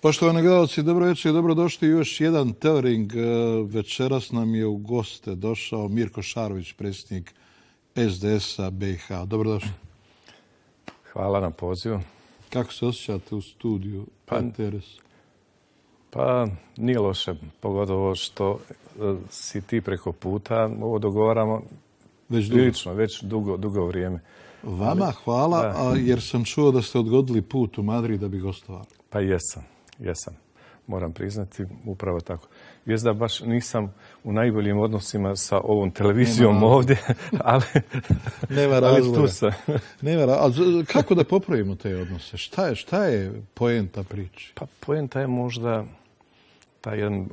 Poštovani gledalci, dobro večer i dobrodošli u još jedan Teoring. Večeras nam je u goste došao Mirko Šarović, predsjednik SDS-a BiH. Dobrodošli. Hvala na pozivu. Kako se osjećate u studiju PTRS? Pa nije loše, pogotovo što si ti preko puta. Ovo dogovaramo već dugo vrijeme. Vama hvala, jer sam čuo da ste odgodili put u Madrid da bi gostovali. Pa jesam. Moram priznati, upravo tako. Jest da baš nisam u najboljim odnosima sa ovom televizijom ovdje, ali tu sam. Ali kako da popravimo te odnose? Šta je poenta priče? Pa poenta je možda taj jedan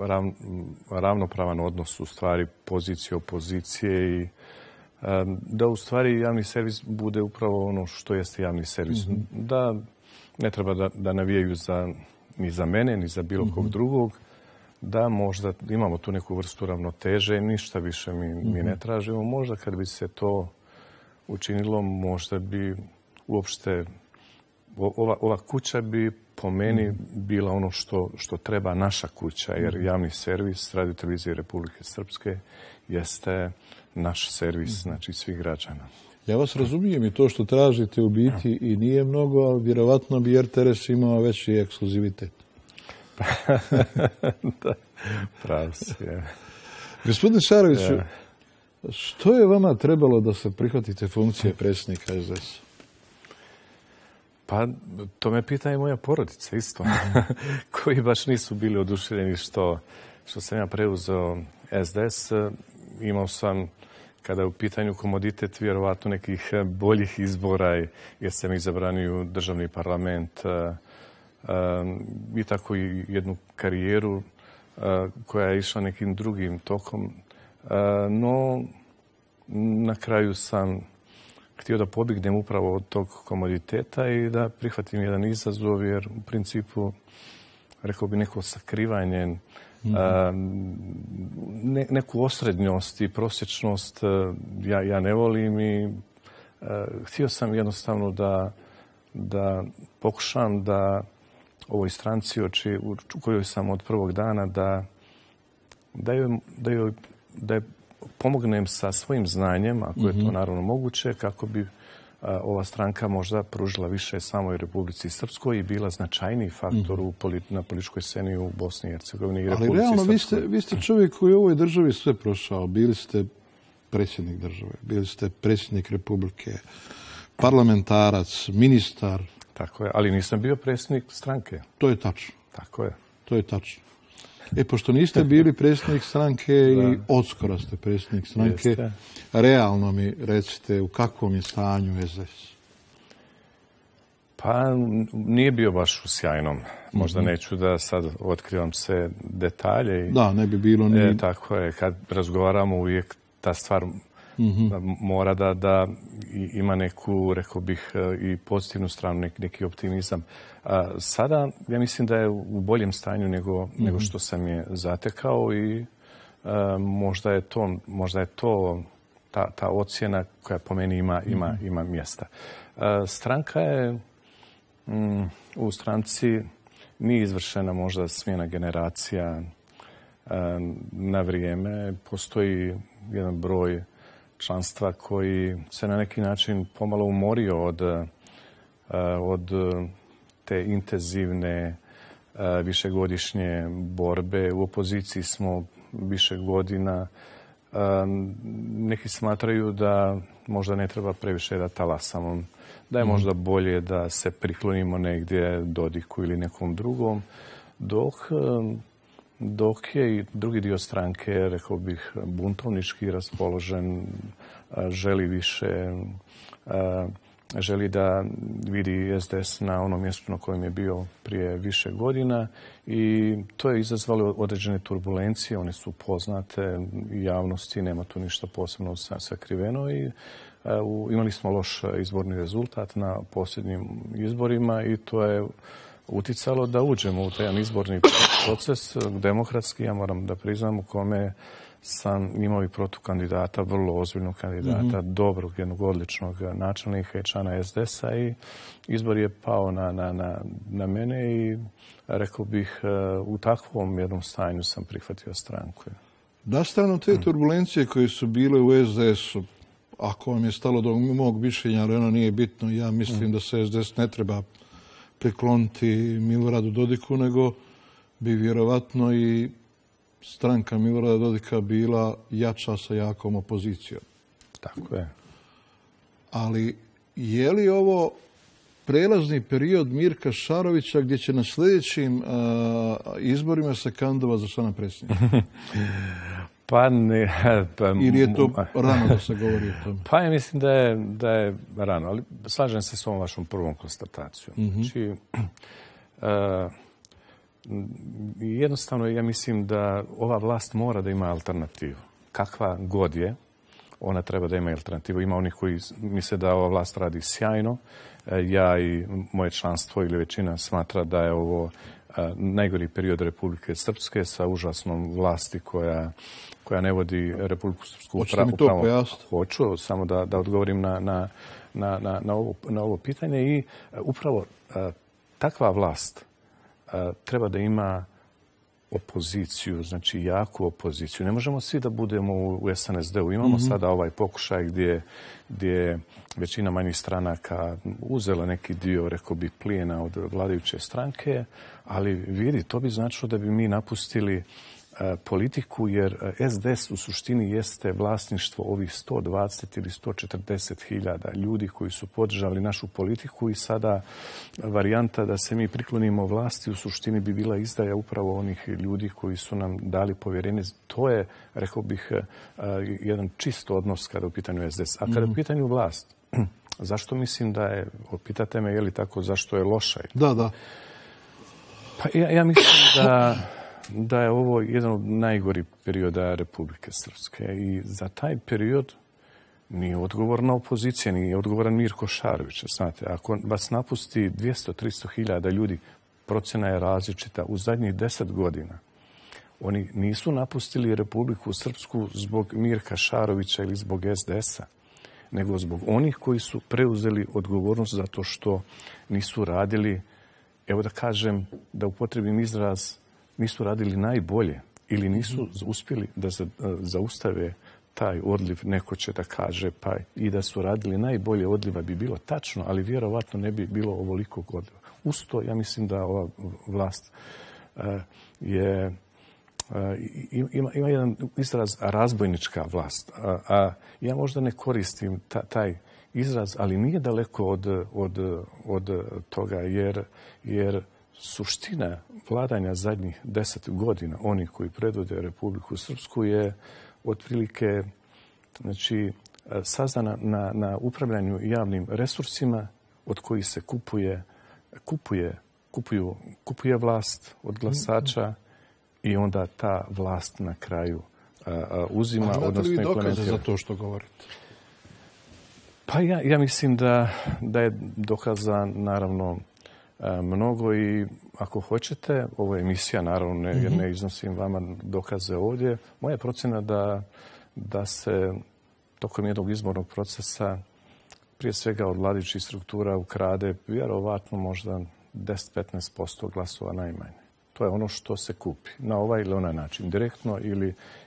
ravnopravan odnos, u stvari pozicije, opozicije i da u stvari javni servis bude upravo ono što jeste javni servis. Da ne treba da navijaju ni za mene, ni za bilo kog drugog, da možda imamo tu neku vrstu ravnoteže, ništa više mi ne tražimo. Možda kad bi se to učinilo, možda bi uopšte ova kuća bi po meni bila ono što treba naša kuća, jer javni servis Radio-televizije Republike Srpske jeste naš servis, znači svih građana. Ja vas razumijem i to što tražite u biti i nije mnogo, ali vjerovatno bi RTS imao veći ekskluzivitet. Da, pravo si. Gospodine Šaroviću, što je vama trebalo da se prihvatite funkcije predsjednika SDS? Pa, to me pita i moja porodica isto, koji baš nisu bili oduševljeni što sam ja preuzeo SDS. Imao sam, kada je u pitanju komoditet, vjerovatno nekih boljih izbora, jer sam izabran u državni parlament i tako i jednu karijeru koja je išla nekim drugim tokom. No, na kraju sam htio da pobjegnem upravo od tog komoditeta i da prihvatim jedan izazov, jer u principu, rekao bi, neko sakrivanje, neku osrednjost i prosječnost ja ne volim i htio sam jednostavno da pokušam da ovoj stranci u kojoj sam od prvog dana da je pomognem sa svojim znanjem, ako je to naravno moguće, kako bi ova stranka možda pružila više samoj Republici Srpskoj i bila značajniji faktor na političkoj sceni u Bosni i Hercegovini i Republici Srpskoj. Ali realno, vi ste čovjek koji u ovoj državi sve prošao. Bili ste predsjednik države, bili ste predsjednik Republike, parlamentarac, ministar. Tako je, ali nisam bio predsjednik stranke. To je tačno. Tako je. To je tačno. Pošto niste bili predsjednik stranke i odskoro ste predsjednik stranke, realno mi recite u kakvom je stanju SDS? Pa nije bio baš u sjajnom. Možda neću da sad otkrivam sve detalje. Da, ne bi bilo ni... Tako je, kad razgovaramo uvijek ta stvar mora da ima neku, rekao bih, i pozitivnu stranu, neki optimizam. Sada, ja mislim da je u boljem stanju nego što sam je zatekao i možda je to ta ocjena koja po meni ima mjesta. Stranka je, u stranci nije izvršena možda smjena generacija na vrijeme. Postoji jedan broj članstva koji se na neki način pomalo umorio od te intenzivne višegodišnje borbe. U opoziciji smo više godina. Neki smatraju da možda ne treba previše da talasamo, da je možda bolje da se priklonimo negdje Dodiku ili nekom drugom, dok je i drugi dio stranke, rekao bih, buntovnički raspoložen, želi više, želi da vidi SDS na onom mjestu na kojem je bio prije više godina i to je izazvalo određene turbulencije, one su poznate javnosti, nema tu ništa posebno sakriveno i imali smo loš izborni rezultat na posljednjim izborima i to je uticalo da uđemo u taj izborni proces demokratski, ja moram da priznam, u kome sam imao i protukandidata, vrlo ozbiljnog kandidata, dobrog, jednog odličnog načelnika i člana SDS-a i izbor je pao na mene i rekao bih u takvom jednom stanju sam prihvatio stranku. Nastavno te turbulencije koje su bile u SDS-u, ako vam je stalo do mog mišljenja, ali ono nije bitno, ja mislim da se SDS ne treba prikloniti Miloradu Dodiku, nego bi vjerovatno i stranka Milorada Dodika bila jača sa jakom opozicijom. Tako je. Ali je li ovo prelazni period Mirka Šarovića gdje će na sljedećim izborima se kandidovati za člana predsjednika? Pa ne. Ili je to rano da se govori o tome? Pa ja mislim da je rano, ali slažem se s ovom vašom prvom konstatacijom. Znači, jednostavno ja mislim da ova vlast mora da ima alternativu. Kakva god je, ona treba da ima alternativu. Ima onih koji misle da ova vlast radi sjajno. Ja i moje članstvo ili većina smatra da je ovo najgori period Republike Srpske sa užasnom vlasti koja ne vodi Republiku Srpsku. Hoćete mi to pojasniti? Hoću, samo da odgovorim na ovo pitanje. I upravo takva vlast treba da ima opoziciju, znači jaku opoziciju. Ne možemo svi da budemo u SNSD-u. Imamo sada ovaj pokušaj gdje je većina manjih stranaka uzela neki dio, rekao bi, plijena od vladajuće stranke, ali vidi, to bi značilo da bi mi napustili politiku, jer SDS u suštini jeste vlasništvo ovih 120 ili 140 hiljada ljudi koji su podržali našu politiku i sada varijanta da se mi priklonimo vlasti u suštini bi bila izdaja upravo onih ljudi koji su nam dali povjerenje. To je, rekao bih, jedan čist odnos kada je u pitanju SDS. A kada je u pitanju vlast, zašto mislim da je, pitate me je li tako, zašto je loša? Da. Pa ja mislim da je ovo jedan od najgorih perioda Republike Srpske i za taj period nije odgovorna opozicija, nije odgovoran Mirko Šarović. Znate, ako vas napusti 200-300 hiljada ljudi, procjena je različita. U zadnjih 10 godina oni nisu napustili Republiku Srpsku zbog Mirka Šarovića ili zbog SDS-a, nego zbog onih koji su preuzeli odgovornost zato što nisu radili, evo da kažem, da upotrebim izraz, nisu radili najbolje ili nisu uspjeli da zaustave taj odliv, neko će da kaže, pa i da su radili najbolje odliva bi bilo tačno, ali vjerovatno ne bi bilo ovolikog odliva. Uz to, ja mislim da ova vlast ima jedan izraz razbojnička vlast. A ja možda ne koristim taj izraz, ali nije daleko od toga, jer suština vladanja zadnjih 10 godina, oni koji predvode Republiku Srpsku, je otprilike sazdana na upravljanju javnim resursima od kojih se kupuje vlast od glasača i onda ta vlast na kraju uzima, odnosno implementira. Imate li vi dokaze za to što govorite? Pa ja mislim da je dokaza naravno mnogo i ako hoćete, ovo je emisija, naravno, jer ne iznosim vama dokaze ovdje. Moja je procjena da se tokom jednog izbornog procesa prije svega od vladajućih struktura ukrade vjerovatno možda 10-15% glasova najmanje. To je ono što se kupi na ovaj ili onaj način, direktno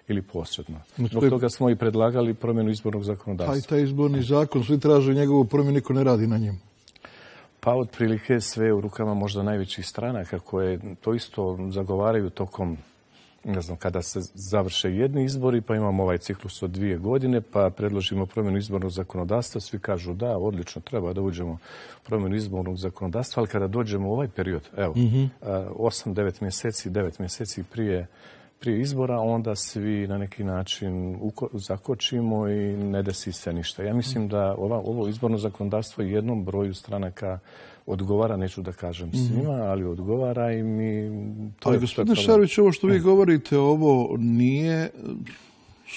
ili posredno. Zbog toga smo i predlagali promjenu izbornog zakonodavstva. Taj izborni zakon, svi traže njegovu promjenu, niko ne radi na njemu. Pa otprilike sve u rukama možda najvećih stranaka koje to isto zagovaraju tokom, ne znam, kada se završe jedni izbori, pa imamo ovaj ciklus od 2 godine, pa predložimo promjenu izbornog zakonodavstva, svi kažu da, odlično, treba da uđemo u promjenu izbornog zakonodavstva, ali kada dođemo u ovaj period, evo, 8-9 mjeseci, 9 mjeseci prije izbora, onda svi na neki način zakočimo i ne desi se ništa. Ja mislim da ovo izborno zakonodavstvo jednom broju stranaka odgovara, neću da kažem svima, ali odgovara i mi... Ali gospodine Šarović, ovo što vi govorite, ovo nije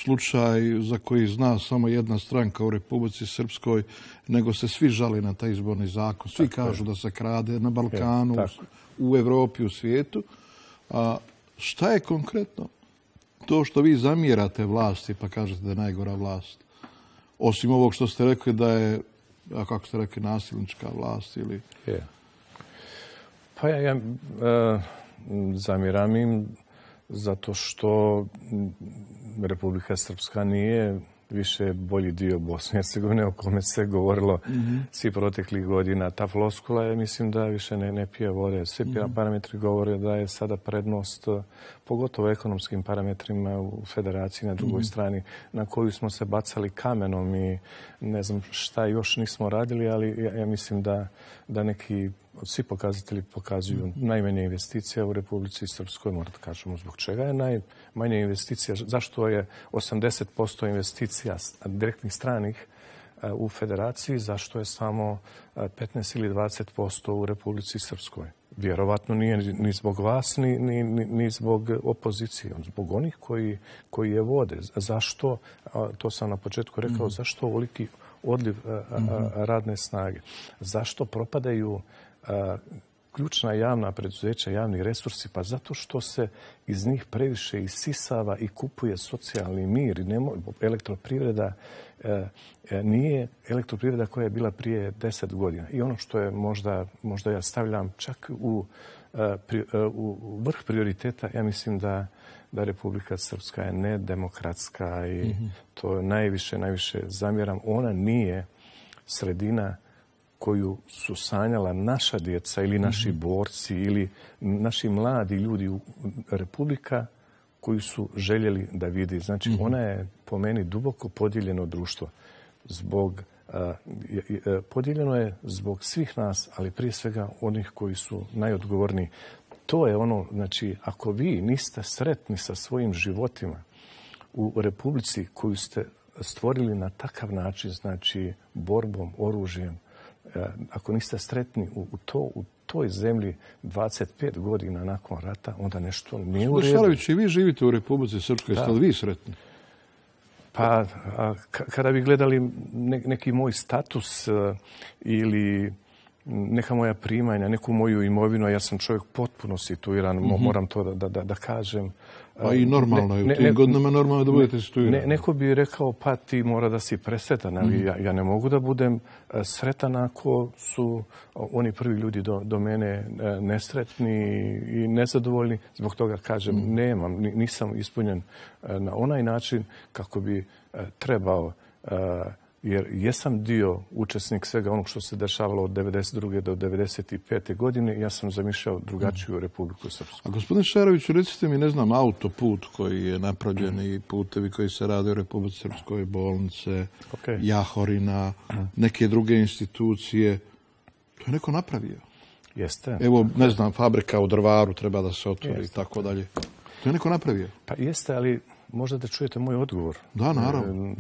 slučaj za koji zna samo jedna stranka u Republici Srpskoj, nego se svi žale na taj izborni zakon. Svi kažu da se krade na Balkanu, u Evropi, u svijetu. A šta je konkretno to što vi zamjerate vlasti, pa kažete da je najgora vlast, osim ovog što ste rekli da je, a kako ste rekli, nasilnička vlast ili... Pa ja zamjeram im zato što Republika Srpska nije više bolji dio Bosne i Hercegovine o kome se govorilo svi proteklih godina. Ta floskula je, mislim, da više ne pije vode. Svi parametri govore da je sada prednost, pogotovo ekonomskim parametrima u federaciji na drugoj strani, na koju smo se bacali kamenom i ne znam šta još nismo radili, ali ja mislim da neki svi pokazatelji pokazuju najmanje investicija u Republici Srpskoj. Morate kažemo zbog čega je najmanje investicija. Zašto je 80% investicija direktnih stranih u federaciji, zašto je samo 15 ili 20% u Republici Srpskoj? Vjerovatno nije ni zbog vas, ni zbog opozicije, zbog onih koji je vode. Zašto, to sam na početku rekao, zašto ovoliki odliv radne snage? Zašto propadaju ključna javna preduzeća, javni resursi? Pa zato što se iz njih previše isisava i kupuje socijalni mir. Elektroprivreda nije elektroprivreda koja je bila prije 10 godina. I ono što je možda ja stavljam čak u vrh prioriteta, ja mislim da Republika Srpska je nedemokratska i to najviše zamjeram. Ona nije sredina koju su sanjala naša djeca ili naši borci ili naši mladi ljudi. Republika koju su željeli da vidi. Znači, ona je po meni duboko podijeljeno društvo. Podijeljeno je zbog svih nas, ali prije svega onih koji su najodgovorniji. To je ono, znači, ako vi niste sretni sa svojim životima u Republici koju ste stvorili na takav način, znači borbom, oružjem, ako niste sretni u toj zemlji 25 godina nakon rata, onda nešto nije u redu. Šarović, i vi živite u Republici Srpskoj, jeste li vi sretni? Pa, kada bi gledali neki moj status ili neka moja primanja, neku moju imovinu, ja sam čovjek potpuno situiran, moram to da kažem. Pa i normalno je, u tim godinama normalno da budete situirani. Neko bi rekao, pa ti mora da si presretan, ali ja ne mogu da budem sretan ako su oni prvi ljudi do mene nesretni i nezadovoljni. Zbog toga kažem, nisam ispunjen na onaj način kako bi trebao, jer jesam dio učesnik svega onog što se dešavalo od 1992. do 1995. godine. Ja sam zamišljao drugačiju Republiku Srpsku. A gospodine Šaroviću, recite mi, ne znam, autoput koji je napravljen i putevi koji se rade u Republici Srpskoj, bolnice, Jahorina, neke druge institucije. To je neko napravio. Jeste. Evo, ne znam, fabrika u Drvaru treba da se otvori i tako dalje. To je neko napravio. Pa jeste, ali možda da čujete moj odgovor. Da, naravno.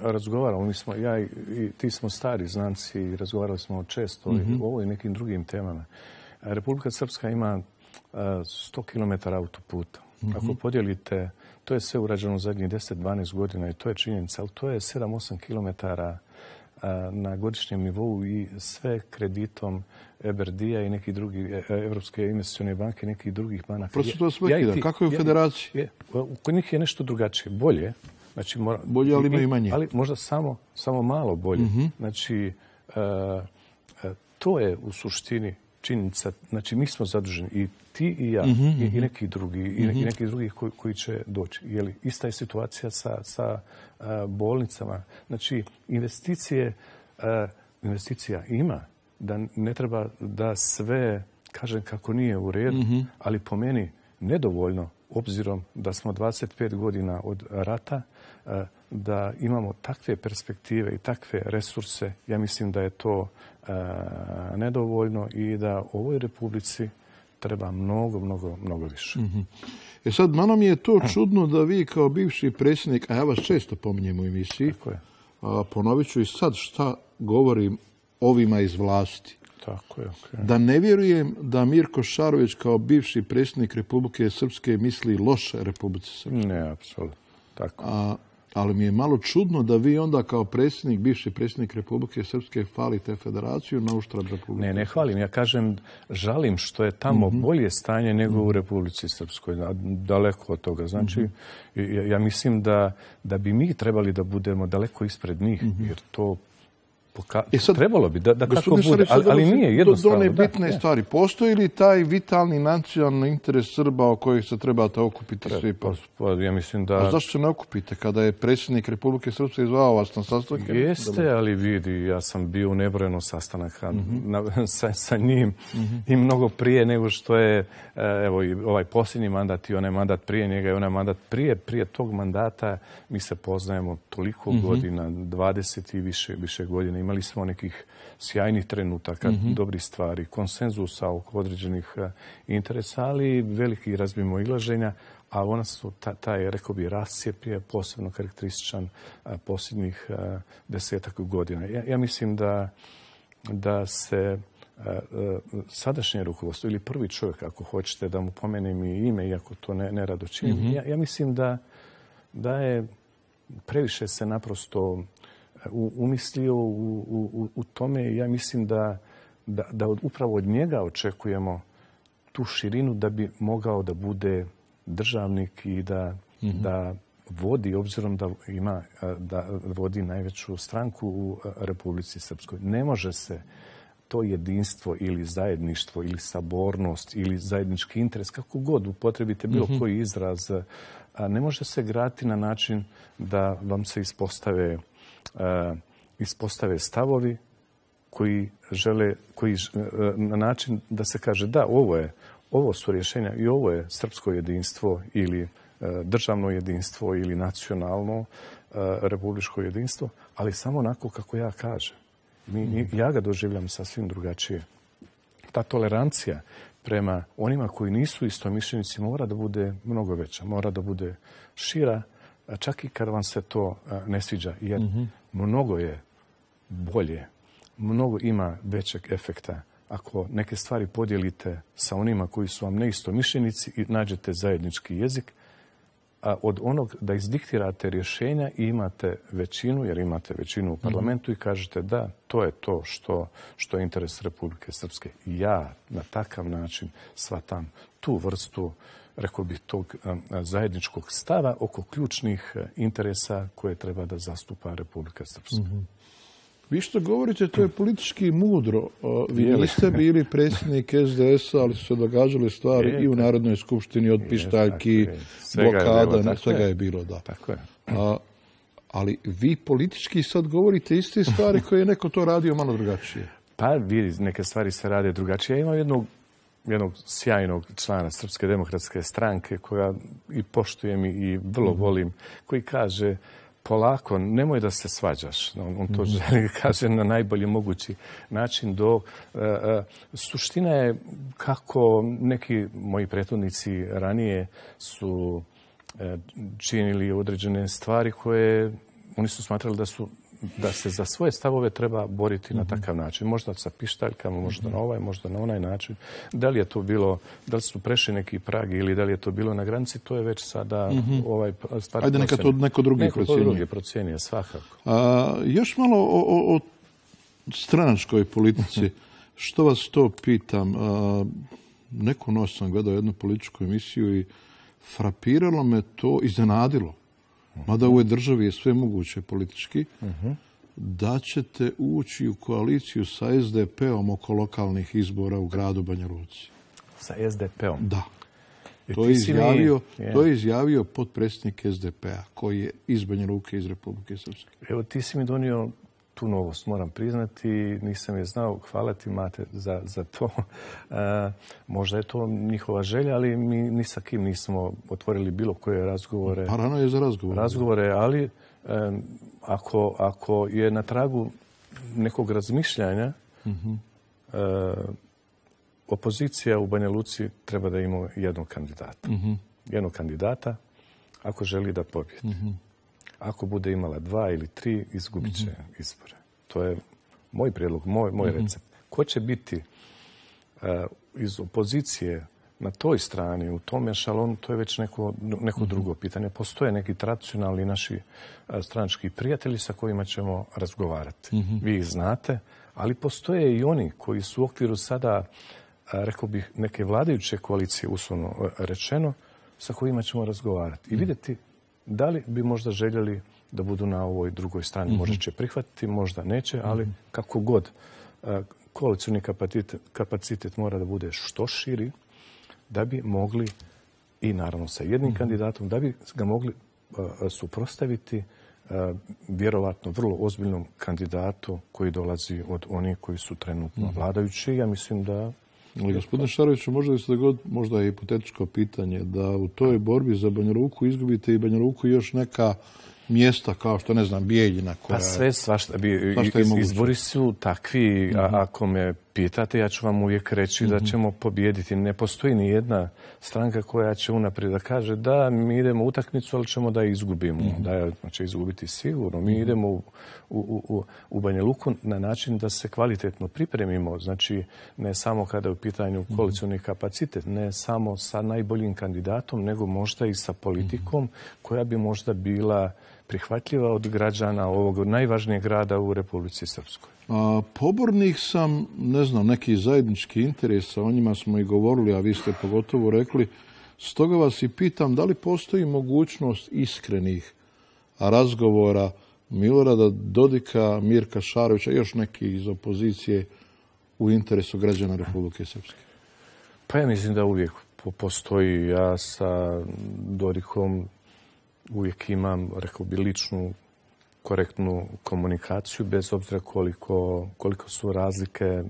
Razgovaramo, ja i ti smo stari znanci i razgovarali smo često o ovoj i nekim drugim temama. Republika Srpska ima 100 km autoputa. Ako podijelite, to je sve urađeno u zadnjih 10-12 godina i to je činjenica, ali to je 7-8 km na godišnjem nivou i sve kreditom EBRD-a i nekih drugih, Evropske investicione banke i nekih drugih banaka. Prosto to sve kida. Kako je u federaciji? Kod njih je nešto drugačije. Bolje. Znači, bolje, ali ima i manje. Ali možda samo malo bolje. Znači, to je u suštini činjenica. Znači, mi smo zaduženi i ti i ja i neki drugi i neki drugi koji će doći. Je li ista je situacija sa bolnicama? Znači, investicija ima. Da ne treba da sve kažem kako nije u redu, ali po meni nedovoljno, obzirom da smo 25 godina od rata, da imamo takve perspektive i takve resurse. Ja mislim da je to nedovoljno i da ovoj Republici treba mnogo više. Sad, malo mi je to čudno da vi kao bivši predsjednik, a ja vas često pominjem u emisiji, ponovit ću i sad šta govorim ovima iz vlasti. Tako je, da ne vjerujem da Mirko Šarović kao bivši predsjednik Republike Srpske misli loše Republici Srpske. Ne, apsolutno. Tako. Ali mi je malo čudno da vi onda kao predsjednik, bivši predsjednik Republike Srpske hvalite federaciju na uštrb Republike. Ne hvalim. Ja kažem, žalim što je tamo bolje stanje nego u Republici Srpskoj. Daleko od toga. Znači, ja mislim da bi mi trebali da budemo daleko ispred njih, jer to trebalo bi da tako bude, ali nije jednostavno. Do one bitne stvari. Postoji li taj vitalni nacionalni interes Srba o kojih se trebate okupiti svi? Ja mislim da... A zašto se ne okupite kada je predsjednik Republike Srpske zvao vas na sastanke? Jeste, ali vidi, ja sam bio u nebrojeno sastanaka sa njim i mnogo prije nego što je evo i ovaj posljednji mandat i onaj mandat prije njega i onaj mandat prije tog mandata. Mi se poznajemo toliko godina, 20 i više godina. Imali smo nekih sjajnih trenutaka, dobrih stvari, konsenzusa oko određenih interesa, ali velikih razmimoilaženja, a ona su taj, rekao bi, rascijep je posebno karakterističan posljednjih 10 godina. Ja mislim da se sadašnje rukovodstvo ili prvi čovjek, ako hoćete da mu pomenem i ime, iako to ne rado činim, ja mislim da je previše se naprosto umislio u tome. Ja mislim da upravo od njega očekujemo tu širinu da bi mogao da bude državnik i da vodi, obzirom da vodi najveću stranku u Republici Srpskoj. Ne može se to jedinstvo ili zajedništvo ili sabornost ili zajednički interes, kako god upotrebite bilo koji izraz, ne može se graditi na način da vam se ispostave stavovi koji žele, na način da se kaže da, ovo su rješenja i ovo je srpsko jedinstvo ili državno jedinstvo ili nacionalno republičko jedinstvo, ali samo onako kako ja kažem. Ja ga doživljam sasvim drugačije. Ta tolerancija prema onima koji nisu istomišljenici mora da bude mnogo veća, mora da bude šira, čak i kad vam se to ne sviđa, jer mnogo je bolje, mnogo ima većeg efekta ako neke stvari podijelite sa onima koji su vam neistomišljenici i nađete zajednički jezik, a od onog da izdiktirate rješenja i imate većinu, jer imate većinu u parlamentu i kažete da, to je to što je interes Republike Srpske. Ja na takav način shvatam tu vrstu, rekao bih, tog zajedničkog stava oko ključnih interesa koje treba da zastupa Republika Srpska. Vi što govorite, to je politički mudro. Vi niste bili predsjednik SDS-a, ali su se događale stvari i u Narodnoj skupštini od pištaljki, blokada, svega je bilo, da. Tako je. Ali vi politički sad govorite iste stvari koje je neko to radio malo drugačije. Pa vidi, neke stvari se rade drugačije. Ja imam jednog sjajnog člana Srpske demokratske stranke koja i poštujem i vrlo volim, koji kaže: polako, nemoj da se svađaš. On to želi, kaže, na najbolji mogući način. Suština je kako neki moji prethodnici ranije su činili određene stvari koje oni su smatrali da se za svoje stavove treba boriti na takav način. Možda sa pištaljkama, možda na ovaj, možda na onaj način. Da li je to bilo, da li su prešli neki prag ili da li je to bilo na granici, to je već sada stvar. Ajde, neka to neko drugi procjenjuje, svakako. Još malo o stranačkoj politici. Što vas to pitam? Neku noć sam gledao jednu političku emisiju i frapiralo me to, iznenadilo. Mada u ovoj državi je sve moguće politički, da ćete ući u koaliciju sa SDP-om oko lokalnih izbora u gradu Banja Luci. Sa SDP-om? Da. To je izjavio potpredsjednik SDP-a, koji je iz Banja Luke, iz Republike Srpske. Evo, ti si mi donio tu novost, moram priznati, nisam je znao. Hvala ti, Mate, za to. Možda je to njihova želja, ali mi ni sa kim nismo otvorili bilo koje razgovore. Pa rano je za razgovore, ali ako je na tragu nekog razmišljanja, opozicija u Banja Luci treba da ima jednog kandidata. Jednog kandidata ako želi da pobjedi. Ako bude imala 2 ili 3, izgubit će izbore. To je moj prijedlog, moj recept. Ko će biti iz opozicije na toj strani, u tom ešalonu, to je već neko drugo pitanje. Postoje neki tradicionalni naši stranački prijatelji sa kojima ćemo razgovarati. Vi ih znate, ali postoje i oni koji su u okviru sada, rekao bih, neke vladajuće koalicije, uslovno rečeno, sa kojima ćemo razgovarati i vidjeti da li bi možda željeli da budu na ovoj drugoj strani. Možda će prihvatiti, možda neće, ali kako god, koalicijni kapacitet mora da bude što širi da bi mogli, i naravno sa jednim kandidatom, da bi ga mogli suprotstaviti vjerovatno vrlo ozbiljnom kandidatu koji dolazi od onih koji su trenutno vladajući. Ja mislim da... Gospodine Šaroviću, možda bi se dogoditi, možda je hipotetičko pitanje, da u toj borbi za Banja Luku izgubite i Banja Luku i još neka mjesta kao što, ne znam, Bijeljina. Pa sve svašta. Izbori su takvi. Ako me pitate, ja ću vam uvijek reći da ćemo pobijediti. Ne postoji ni jedna stranka koja će unaprijed da kaže da mi idemo u utakmicu, ali ćemo da izgubimo. Da će izgubiti sigurno. Mi idemo u Banja Luku na način da se kvalitetno pripremimo. Znači, ne samo kada je u pitanju koalicijni kapacitet, ne samo sa najboljim kandidatom, nego možda i sa politikom koja bi možda bila prihvatljiva od građana ovog najvažnijeg grada u Republici Srpskoj. Pobornik sam, ne znam, neki zajednički interesa, o njima smo i govorili, a vi ste pogotovo rekli. Stoga vas i pitam, da li postoji mogućnost iskrenih razgovora Milorada Dodika, Mirka Šarovića i još neki iz opozicije u interesu građana Republike Srpske? Pa ja mislim da uvijek postoji. Ja sa Dodikom uvijek imam, rekao bi, ličnu, korektnu komunikaciju, bez obzira koliko su razlike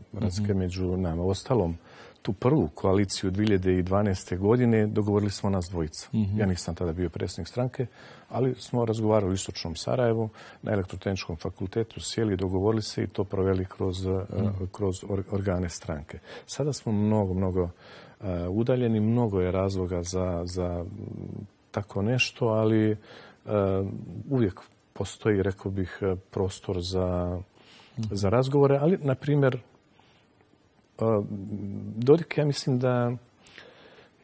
među nama. Ostalom, tu prvu koaliciju 2012. godine dogovorili smo nas dvojica. Ja nisam tada bio predsjednik stranke, ali smo razgovarali u Istočnom Sarajevu, na Elektrotehničkom fakultetu, sjeli, dogovorili se i to proveli kroz organe stranke. Sada smo mnogo udaljeni, mnogo je razloga za tako nešto, ali uvijek postoji, rekao bih, prostor za razgovore. Ali, na primjer, Dodik, ja mislim da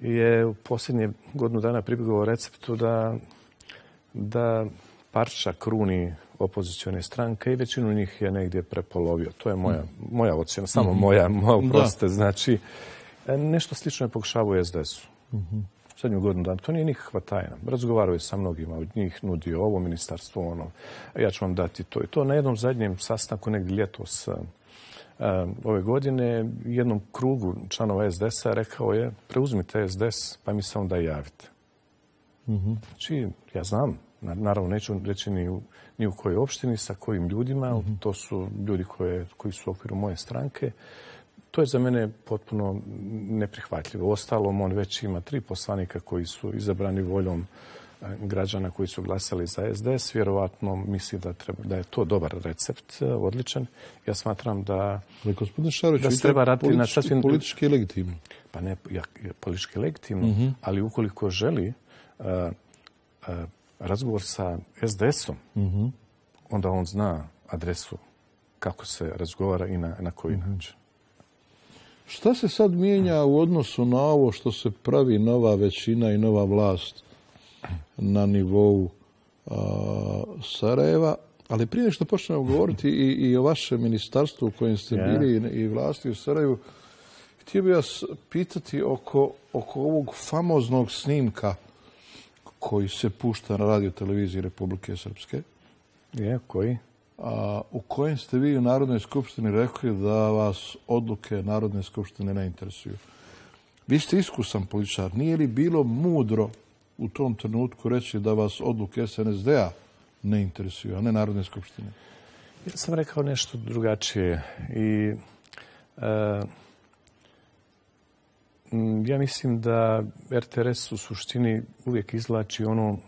je u posljednje godinu dana pribjegao receptu da parča kruni opozicione stranke i većinu njih je negdje prepolovio. To je moja ocjena, samo moja, oprostite. Znači, nešto slično je pokušavao u SDS-u. Zadnju godinu dana. To nije nikakva tajna. Razgovarao je sa mnogima od njih, nudio ovo ministarstvo, ono. Ja ću vam dati to i to. Na jednom zadnjem sastanku, negdje ljetos ove godine, jednom krugu članova SDS-a rekao je: preuzmite SDS, pa mi se onda javite. Znači, ja znam, naravno neću reći ni u kojoj opštini, sa kojim ljudima, to su ljudi koji su u okviru moje stranke. To je za mene potpuno neprihvatljivo. Ostalom, on već ima 3 poslanika koji su izabrani voljom građana koji su glasali za SDS. Vjerovatno misli da je to dobar recept, odličan. Ja smatram da se treba raditi na sasvim... Politički legitimno. Pa ne, politički legitimno, ali ukoliko želi razgovor sa SDS-om, onda on zna adresu kako se razgovara i na koji način. Šta se sad mijenja u odnosu na ovo što se pravi nova većina i nova vlast na nivou Sarajeva? Ali prije što počnemo govoriti i o vašem ministarstvu u kojem ste bili i vlasti u Sarajevu, htio bih vas pitati oko ovog famoznog snimka koji se pušta na radioteleviziji Republike Srpske. Koji? U kojem ste vi u Narodnoj skupštini rekli da vas odluke Narodne skupštine ne interesuju. Vi ste iskusan političar. Nije li bilo mudro u tom trenutku reći da vas odluke SNSD-a ne interesuju, a ne Narodne skupštine? Ja sam rekao nešto drugačije i ja mislim da RTRS u suštini uvijek izvlači ono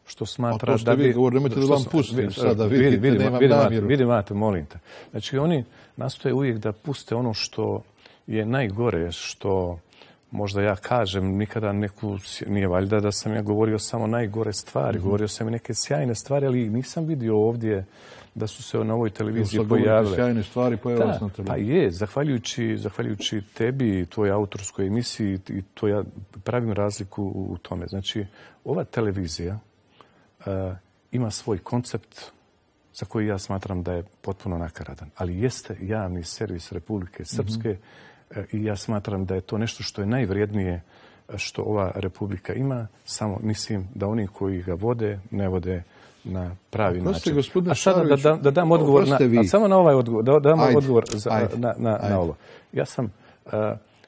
što smatra da bi... Nemojte da vam pustim sada, vidite, nemam namjeru. Vidim, molim te. Znači, oni nastoje uvijek da puste ono što je najgore, što možda ja kažem, nikada nije valjda da sam ja govorio samo najgore stvari. Govorio sam i neke sjajne stvari, ali nisam vidio ovdje da su se na ovoj televiziji pojavile. Sjajne stvari pojavile se na televiziji. Pa je, zahvaljujući tebi i tvojoj autorskoj emisiji, i to ja pravim razliku u tome. Znači, ova televizija ima svoj koncept za koji ja smatram da je potpuno nakaradan. Ali jeste javni servis Republike Srpske i ja smatram da je to nešto što je najvrijednije što ova republika ima. Samo mislim da oni koji ga vode, ne vode na pravi način. A sada da dam odgovor, samo na ovaj odgovor, da dam odgovor na ovo. Ja sam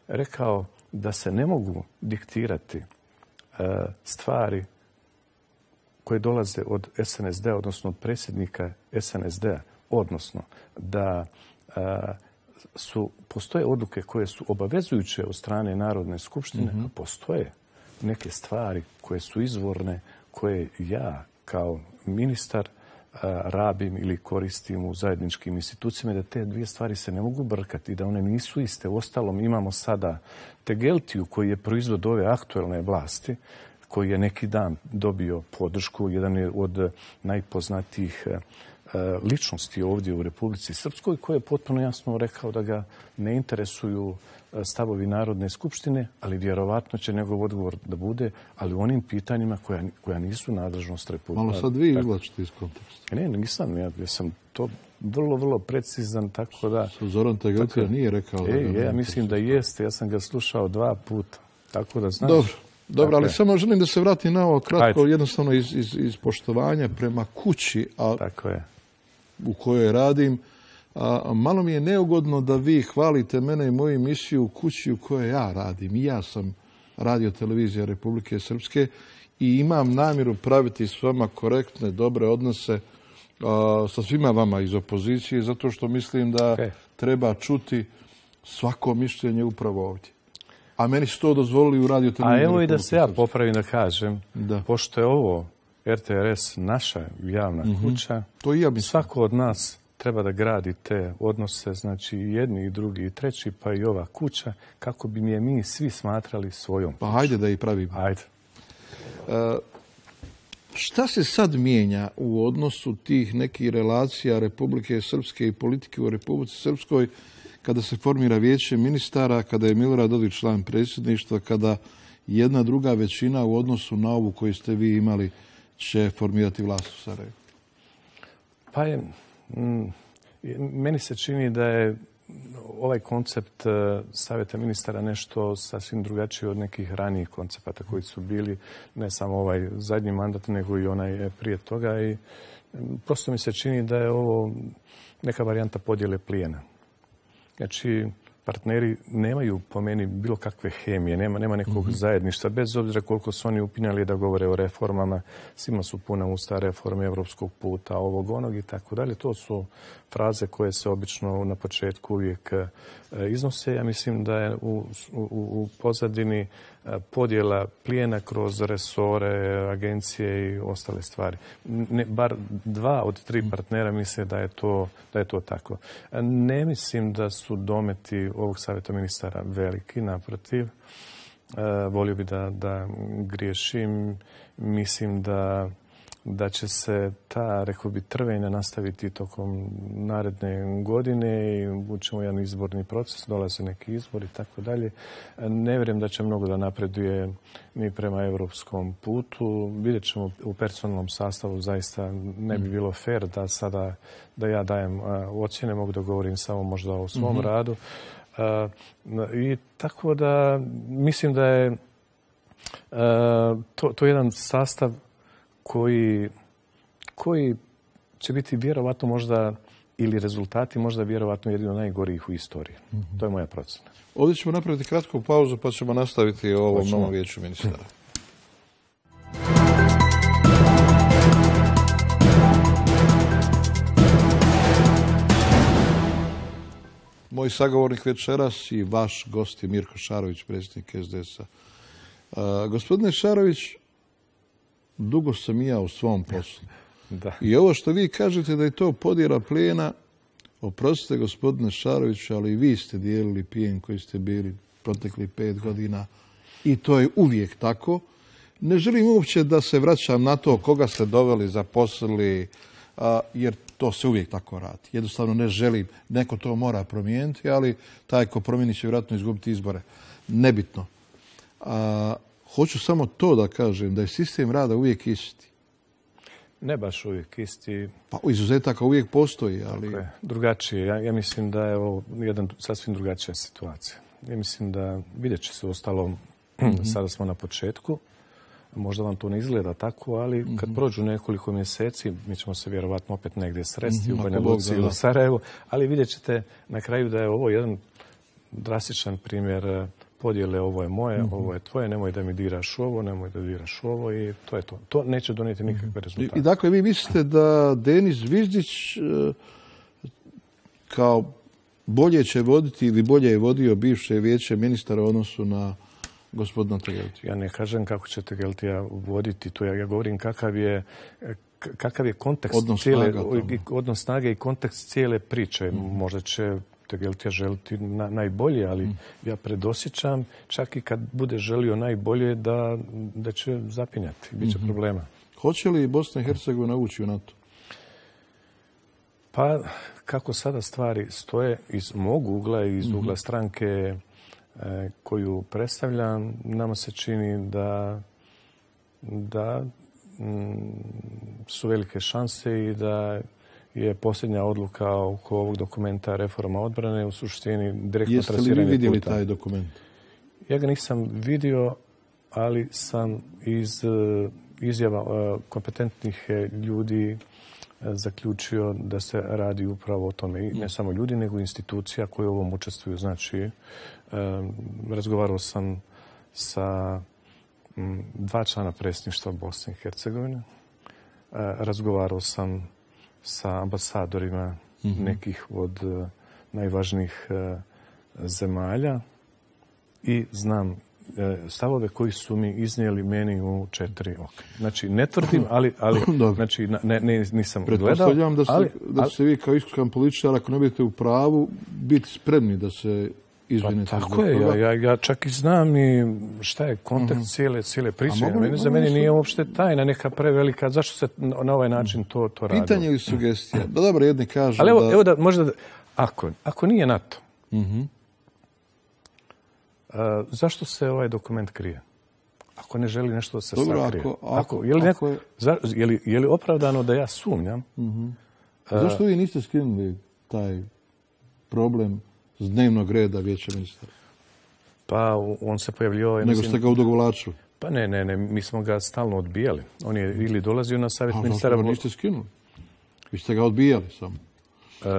rekao da se ne mogu diktirati stvari koje dolaze od SNSD-a, odnosno od predsjednika SNSD-a, odnosno da postoje odluke koje su obavezujuće od strane Narodne skupštine, a postoje neke stvari koje su izvorne, koje ja kao ministar rabim ili koristim u zajedničkim institucijama, da te dvije stvari se ne mogu brkati i da one nisu iste. Uostalom, imamo sada Tegeltiju koji je proizvod ove aktuelne vlasti, koji je neki dan dobio podršku, jedan je od najpoznatijih ličnosti ovdje u Republici Srpskoj, koji je potpuno jasno rekao da ga ne interesuju stavovi Narodne skupštine, ali vjerovatno će njegov odgovor da bude, ali u onim pitanjima koja nisu nadležnost Republike. Malo sad vi izvlačite iz konteksta. Ne, nisam. Ja sam to vrlo, vrlo precizan, tako da... Zoran Tegeltija nije rekao da... Ja mislim da jeste. Ja sam ga slušao 2 puta. Tako da znaš... Dobro, ali samo želim da se vratim na ovo kratko, jednostavno iz poštovanja prema kući u kojoj radim. Malo mi je neugodno da vi hvalite mene i moju emisiju u kući u kojoj ja radim. I ja sam Radio televizija Republike Srpske i imam namjeru praviti s vama korektne, dobre odnose sa svima vama iz opozicije, zato što mislim da treba čuti svako mišljenje upravo ovdje. A meni su to dozvolili u Radio televiziji. A evo i da se ja popravim da kažem, pošto je ovo RTRS naša javna kuća, svako od nas treba da gradi te odnose, znači i jedni, i drugi, i treći, pa i ova kuća, kako bi mi svi smatrali svojom kućom. Pa hajde da i pravimo. Hajde. Šta se sad mijenja u odnosu tih nekih relacija Republike Srpske i politike u Republici Srpskoj kada se formira vijeće ministara, kada je Milorad Dodik član predsjedništva, kada jedna druga većina u odnosu na ovu koju ste vi imali će formirati vlast u Sarajevu? Pa meni se čini da je ovaj koncept Savjeta ministara nešto sasvim drugačije od nekih ranijih koncepata koji su bili ne samo ovaj zadnji mandat, nego i onaj prije toga. I prosto mi se čini da je ovo neka varijanta podjele plijena. Znači, partneri nemaju po meni bilo kakve hemije, nema nekog zajedništva, bez obzira koliko su oni upinjali da govore o reformama, svima su puna usta reforme evropskog puta, ovog, onog i tako dalje. To su fraze koje se obično na početku uvijek iznose. Ja mislim da je u pozadini podjela plijena kroz resore, agencije i ostale stvari. Bar 2 od 3 partnera misle da je to tako. Ne mislim da su dometi ovog Savjeta ministara veliki, naprotiv. Volio bi da griješim. Mislim da će se ta, rekao bi, trvenja nastaviti tokom naredne godine i učimo jedan izborni proces, dolaze neki izbori i tako dalje. Ne vjerujem da će mnogo da napreduje ni prema evropskom putu. Vidjet ćemo u personalnom sastavu, zaista ne bi bilo fair da sada da ja dajem ocjene, mogu da govorim samo možda o svom radu. I tako da mislim da je to jedan sastav koji će biti vjerovatno možda, ili rezultati možda vjerovatno jedino najgorijih u istoriji. To je moja procena. Ovdje ćemo napraviti kratku pauzu pa ćemo nastaviti o ovom novom vijeću ministara. Moj sagovornik večeras i vaš gost je Mirko Šarović, predsjednik SDS-a. Gospodine Šarović, dugo sam i ja u svom poslu. I ovo što vi kažete da je to podjela plijena, oprostite gospodine Šarović, ali i vi ste dijelili plijen koji ste bili protekli 5 godina i to je uvijek tako. Ne želim uopće da se vraćam na to koga ste doveli, zaposlili, jer To se uvijek tako radi. Jednostavno ne želim, neko to mora promijeniti, ali taj ko promijeni će vjerojatno izgubiti izbore. Nebitno. Hoću samo to da kažem, da je sistem rada uvijek isti. Ne baš uvijek isti. Pa izuzetaka uvijek postoji, ali... Dakle, drugačije. Ja mislim da je ovo jedan sasvim drugačija situacija. Ja mislim da vidjet će se uostalom, sada smo na početku, možda vam to ne izgleda tako, ali kad prođu nekoliko mjeseci, mi ćemo se vjerovatno opet negdje sresti u Banja Luci ili u Sarajevu, ali vidjet ćete na kraju da je ovo jedan drastičan primjer podjele, ovo je moje, ovo je tvoje, nemoj da mi diraš ovo, nemoj da diraš ovo i to je to. To neće donijeti nikakve rezultate. I dakle, vi mislite da Denis Zvizdić kao bolje će voditi ili bolje je vodio bivše vijeće ministara u odnosu na gospodina Tegeltija? Ja ne kažem kako će Tegeltija voditi to. Ja govorim kakav je kontekst odnos snage i kontekst cijele priče. Možda će Tegeltija želiti najbolje, ali ja predosjećam čak i kad bude želio najbolje da će zapinjati. Biće problema. Hoće li Bosna i Hercegovina ući u NATO? Pa kako sada stvari stoje iz mog ugla i iz ugla stranke koju predstavljam, nama se čini da su velike šanse i da je posljednja odluka oko ovog dokumenta reforma odbrane u suštini direktno trasiranje puta. Jeste li vi vidjeli taj dokument? Ja ga nisam vidio, ali sam iz izjava kompetentnih ljudi zaključio da se radi upravo o tome. I ne samo ljudi, nego institucija koje u ovom učestvuju. Znači, razgovarao sam sa 2 člana predsjedništva Bosne i Hercegovine. Razgovarao sam sa ambasadorima nekih od najvažnijih zemalja i znam stavove koji su mi iznijeli meni u 4 oka. Znači, ne tvrdim, ali znači, nisam gledao. Pretpostavljam da ste vi kao iskusan političar, ako ne budete u pravu, biti spremni da se izvinite. Pa, tako je, ja čak i znam i šta je kontekst cijele priče. Za mene nije uopšte tajna neka prevelika. Zašto se na ovaj način to radi? Pitanje ili sugestija? Da dobro, jedni kažu ali evo da možda, ako nije NATO, zašto se ovaj dokument krije? Ako ne želi nešto da se sakrije. Je li opravdano da ja sumnjam? Zašto vi niste skinuli taj problem s dnevnog reda vijeća ministara? Pa on se pojavljio... Nego ste ga odugovlačili? Pa ne, mi smo ga stalno odbijali. On je ili dolazio na savjet ministara... Ali niste skinuli. Vi ste ga odbijali samo.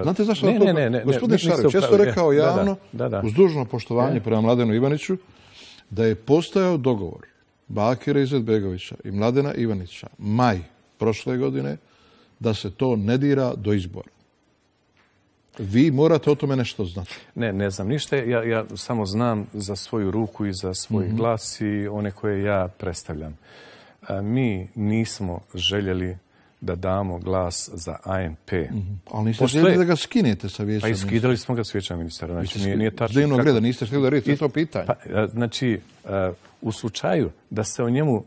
Znate zašto? Ne. Gospodin Šarović, ja sam rekao javno, uz dužno poštovanje prema Mladenu Ivaniću, da je postojao dogovor Bakira Izetbegovića i Mladena Ivanića maj prošle godine da se to ne dira do izbora. Vi morate o tome nešto znati. Ne znam ništa. Ja samo znam za svoju ruku i za svoj glas i one koje ja predstavljam. Mi nismo željeli da damo glas za ANP. Ali niste željeli da ga skinete sa vijeća ministara? Pa iskidali smo ga s vijeća ministara. Znači, nije tačno. Dnevnog reda niste htjeli da radite to pitanje. Znači, u slučaju da se o njemu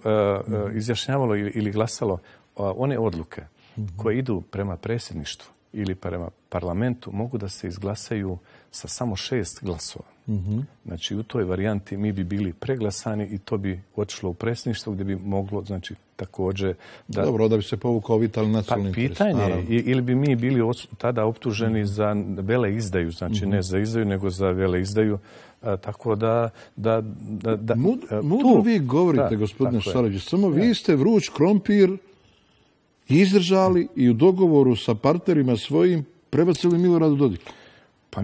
izjašnjavalo ili glasalo one odluke koje idu prema predsjedništvu ili prema parlamentu mogu da se izglasaju sa samo 6 glasova. Znači, u toj varijanti mi bi bili preglasani i to bi otišlo u predsjedništvo gdje bi moglo, znači, također... Dobro, da bi se povukao vitalni nacionalni interes. Pitanje je, ili bi mi bili tada optuženi za veleizdaju, znači ne za izdaju, nego za veleizdaju. Tako da... Mudro vi govorite, gospodine Šarović, samo vi ste vruć krompir izdržali i u dogovoru sa partnerima svojim prebacili Miloradu Dodiku. Pa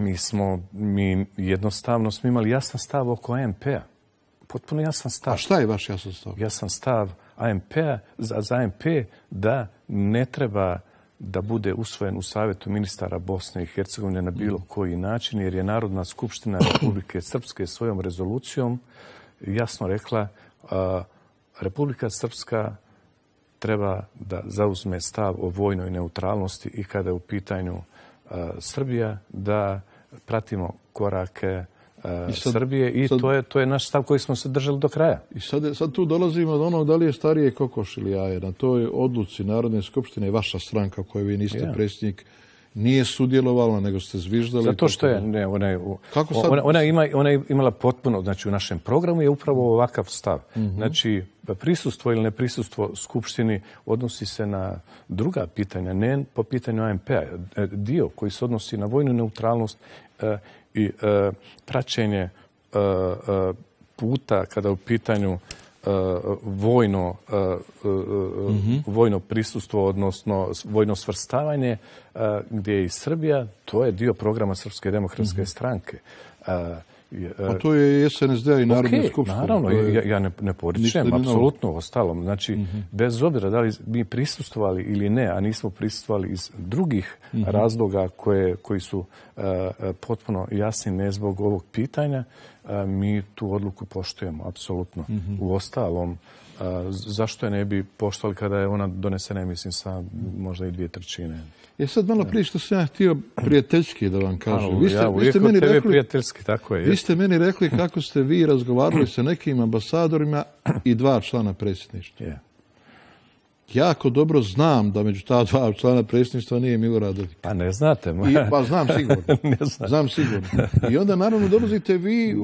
mi jednostavno smo imali jasan stav oko ANP-a. Potpuno jasan stav. A šta je vaš jasan stav? Jasan stav ANP-a, za ANP da ne treba da bude usvojen u Savjetu ministara Bosne i Hercegovine na bilo koji način, jer je Narodna skupština Republike Srpske svojom rezolucijom jasno rekla Republika Srpska treba da zauzme stav o vojnoj neutralnosti i kada je u pitanju Srbija, da pratimo korake Srbije i to je naš stav koji smo se držali do kraja. I sad tu dolazimo do onog da li je starije kokoš ili jaje. Na toj odluci Narodne skupštine vaša stranka, kojoj vi niste predsjednik, nije sudjelovala, nego ste zviždali. Zato što je, ona je imala potpuno, znači u našem programu je upravo ovakav stav. Znači, prisustvo ili neprisustvo Skupštini odnosi se na druga pitanja, ne po pitanju ANP-a. Dio koji se odnosi na vojnu neutralnost i praćenje puta kada u pitanju vojno prisustvo, odnosno vojno svrstavanje, gdje je i Srbija, to je dio programa Srpske demokratske stranke. A to je i SNSD-a i Narodna skupština. Naravno, ja ne poričem, apsolutno ostalom. Znači, bez obzira da li mi prisustvovali ili ne, a nismo prisustvovali iz drugih razloga koji su potpuno jasni ne zbog ovog pitanja, mi tu odluku poštujemo, apsolutno. U ostalom, zašto je ne bi poštovali kada je ona donesena, mislim, sa možda i 2/3? Sad malo prije što sam ja htio prijateljski da vam kažem. Vi ste meni rekli, prijateljski, tako je. Vi ste meni rekli kako ste vi razgovarali sa nekim ambasadorima i 2 člana predsjedništva. Jako dobro znam da među ta 2 člana predsjedništva nije Milorad Dodik. Pa ne znate. Pa znam sigurno. Znam sigurno. I onda naravno dolazite vi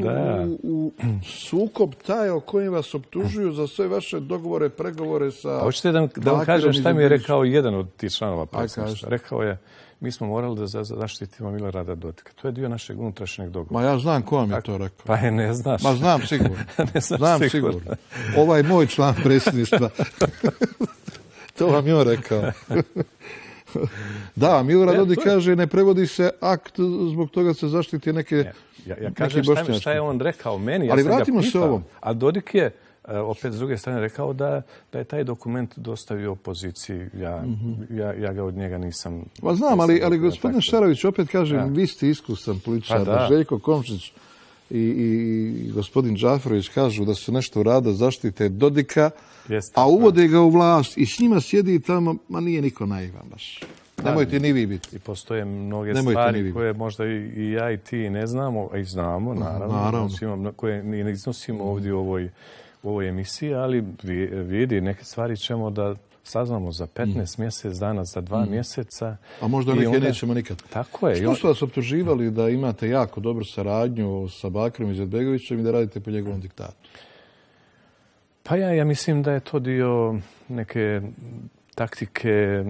u sukob taj o kojem vas optužuju za sve vaše dogovore, pregovore sa... Hoćete da vam kažem šta mi je rekao jedan od tih članova predsjedništva? Rekao je, mi smo morali da zaštitimo Milorada Dodika. To je dio našeg unutrašnjeg dogovora. Ma ja znam ko vam je to rekao. Pa ne znaš. Ma znam sigurno. Znam sigurno. Ovaj moj član predsjedništva. To vam je on rekao. Da, Milorad Dodik kaže ne prevodi se akt, zbog toga se zaštiti neke Ja kažem šta je on rekao meni. Ali vratimo se ovom. A Dodik je opet s druge strane rekao da je taj dokument dostavio opoziciji. Ja ga od njega nisam... Ma znam, ali gospodin Šarović, opet kažem, vi ste iskusan političar. Željko Komšić i gospodin Džaferović kažu da su nešto rada zaštite Dodika, a uvode ga u vlast i s njima sjedi tamo, ma nije niko naivan baš. Nemojte ni vi biti. I postoje mnoge stvari koje možda i ja i ti ne znamo, a i znamo, naravno. Koje ne iznosimo ovdje u ovoj emisiji, ali vidi, neke stvari ćemo da saznamo za 15 mjesec dana, za 2 mjeseca. A možda neke nećemo nikad. Tako je. Što su vas optuživali da imate jako dobru saradnju sa Bakirom Izetbegovićem i da radite po njegovom diktatu? Pa ja mislim da je to dio neke taktike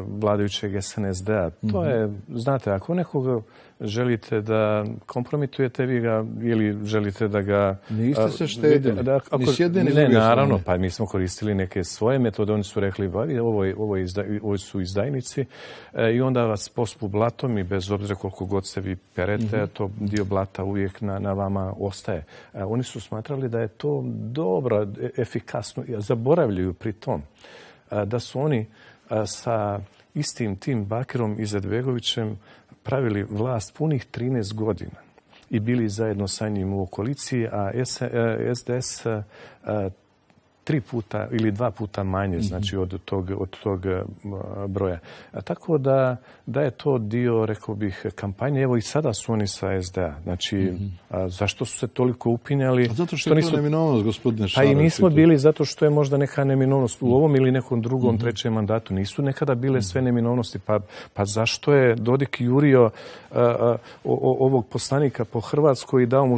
vladajućeg SNSD-a. To je, znate, ako nekoga želite da kompromitujete, vi ga ili želite da ga... Niste se štedili, ni s jedne ni s druge strane. Naravno, pa mi smo koristili neke svoje metode, oni su rekli, ovo su izdajnici i onda vas pospu blatom i bez obzira koliko god se vi perete, to dio blata uvijek na vama ostaje. Oni su smatrali da je to dobro, efikasno, zaboravljaju pri tom da su oni sa istim tim Bakirom Izetbegovićem pravili vlast punih 13 godina i bili zajedno sa njim u koaliciji, a SDS 3 puta ili 2 puta manje, znači od tog broja. Tako da je to dio, rekao bih, kampanje. Evo i sada su oni sa SDA. Znači, zašto su se toliko upinjali? A zato što je to neminovnost, gospodine Šarović. Pa i nismo bili zato što je možda neka neminovnost u ovom ili nekom drugom, trećem mandatu. Nisu nekada bile sve neminovnosti. Pa zašto je Dodik jurio ovog poslanika po Hrvatskoj i dao mu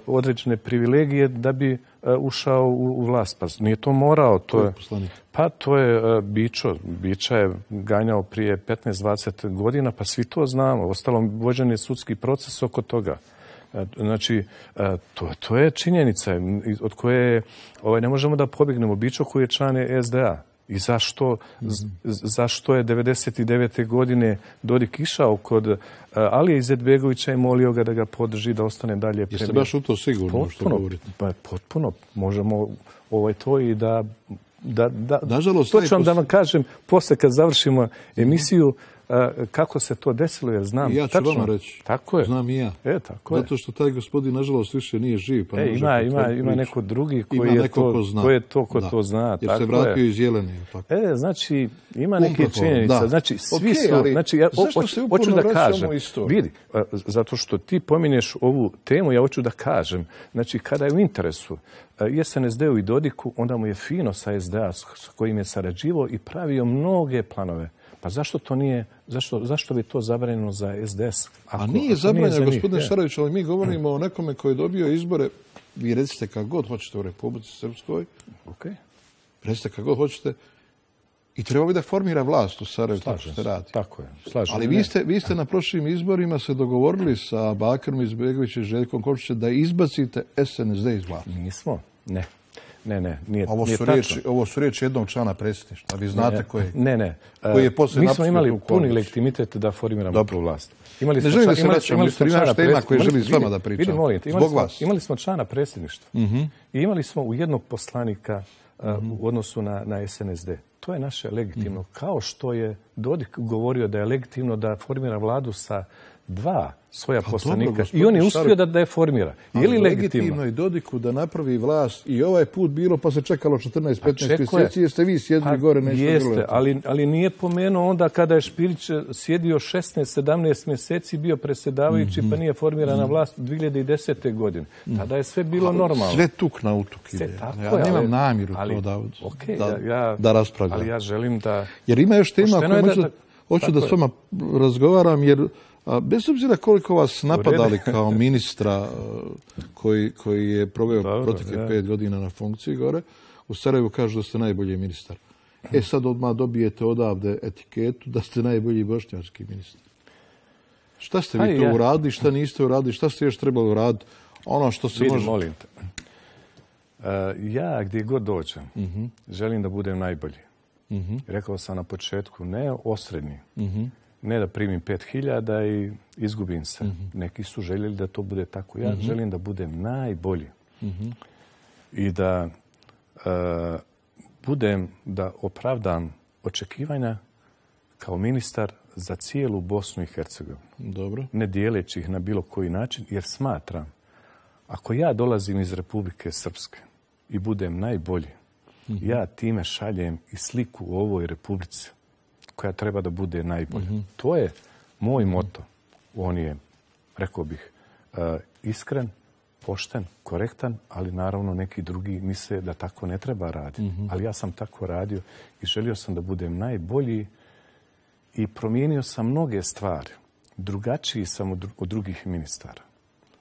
određene privilegije da bi ušao u vlast. Pa nije to morao. To je Bičo. Biča je ganjao prije 15-20 godina, pa svi to znamo. Ostalom, vođen je sudski proces oko toga. Znači, to je činjenica od koje ne možemo da pobjegnemo. Bičo koji je član SDA. I zašto je 99. godine Dodik išao kod Alije Izetbegovića i molio ga da ga podrži, da ostane dalje premijer. Jeste baš u to sigurno što govorite? Potpuno. Možemo to i da nažalost, to ću vam da vam kažem, posle kad završimo emisiju, kako se to desilo, jer znam I ja ću tačno. vama reći. Tako je. Znam i ja. Tako je. Zato što taj gospodin, nažalost, više nije živ. Pa ima neko drugi koji je to ko to zna. Jer se vratio iz Jelene. Znači, ima neke činjenice. Znači, svi su... Znači, ja hoću da kažem. Vidi, zato što ti pominješ ovu temu, ja hoću da kažem. Znači, kada je u interesu SNSD-u i Dodiku, onda mu je fino sa SDA s kojim je sarađivao i pravio mnoge planove. Pa zašto to nije, zašto bi to zabranjeno za SDS? A nije zabranjeno, gospodine Šarović, ali mi govorimo o nekome koji je dobio izbore, vi recite kako god hoćete u Republici Srpskoj, recite kako god hoćete, i treba bi da formira vlast u Sarajevu, tako što radi. Tako je, ali vi ste na prošlim izborima se dogovorili sa Bakirom Izetbegovićem i Željkom Komšićem da izbacite SNSD iz vlasti. Nismo, ne. Ne, nije ovo su riječi jednog člana predsjedništva. Vi znate koji je poslije... Mi smo imali puni legitimitet da formiramo tu vlast. Ne želim da se vraćam, jer naš tema koji želim s vama da pričam. Zbog vas. Imali smo člana predsjedništva i imali smo u jednog poslanika u odnosu na SNSD. To je naše legitimno. Kao što je Dodik govorio da je legitimno da formira vladu sa 2 svoja poslanika i on je uspio da je formira. Je li legitimno i Dodiku da napravi vlast i ovaj put bilo pa se čekalo 14-15 mjeseci jer ste vi sjedili gore nešto bilo? Jeste, ali nije pomenuo onda kada je Špirić sjedio 16-17 mjeseci, bio predsjedavajući pa nije formirana vlast 2010. godine. Tada je sve bilo normalno. Sve tuk na utuk ide. Ja nemam namjeru to da raspravljam. Ali ja želim da... Jer ima još tema koje hoću da s vama razgovaram jer bez obzira koliko vas napadali kao ministra koji je proveo proteklih 5 godina na funkciji gore, u Sarajevu kažu da ste najbolji ministar. Sad odmah dobijete odavde etiketu da ste najbolji bošnjački ministar. Šta ste vi to uradili, šta niste uradili, šta ste još trebali uraditi? Ono što se može... Molim te. Ja gdje god dođem, želim da budem najbolji. Rekao sam na početku, ne osrednji. Ne da primim 5000 i izgubim se. Neki su željeli da to bude tako. Ja želim da budem najbolji. I da da opravdam očekivanja kao ministar za cijelu Bosnu i Hercegovinu. Dobro. Ne dijeleći ih na bilo koji način, jer smatram, ako ja dolazim iz Republike Srpske i budem najbolji, ja time šaljem i sliku u ovoj Republici koja treba da bude najbolja. To je moj moto. On je, rekao bih, iskren, pošten, korektan, ali naravno neki drugi misle da tako ne treba raditi. Ali ja sam tako radio i želio sam da budem najbolji i promijenio sam mnoge stvari. Drugačiji sam od drugih ministara.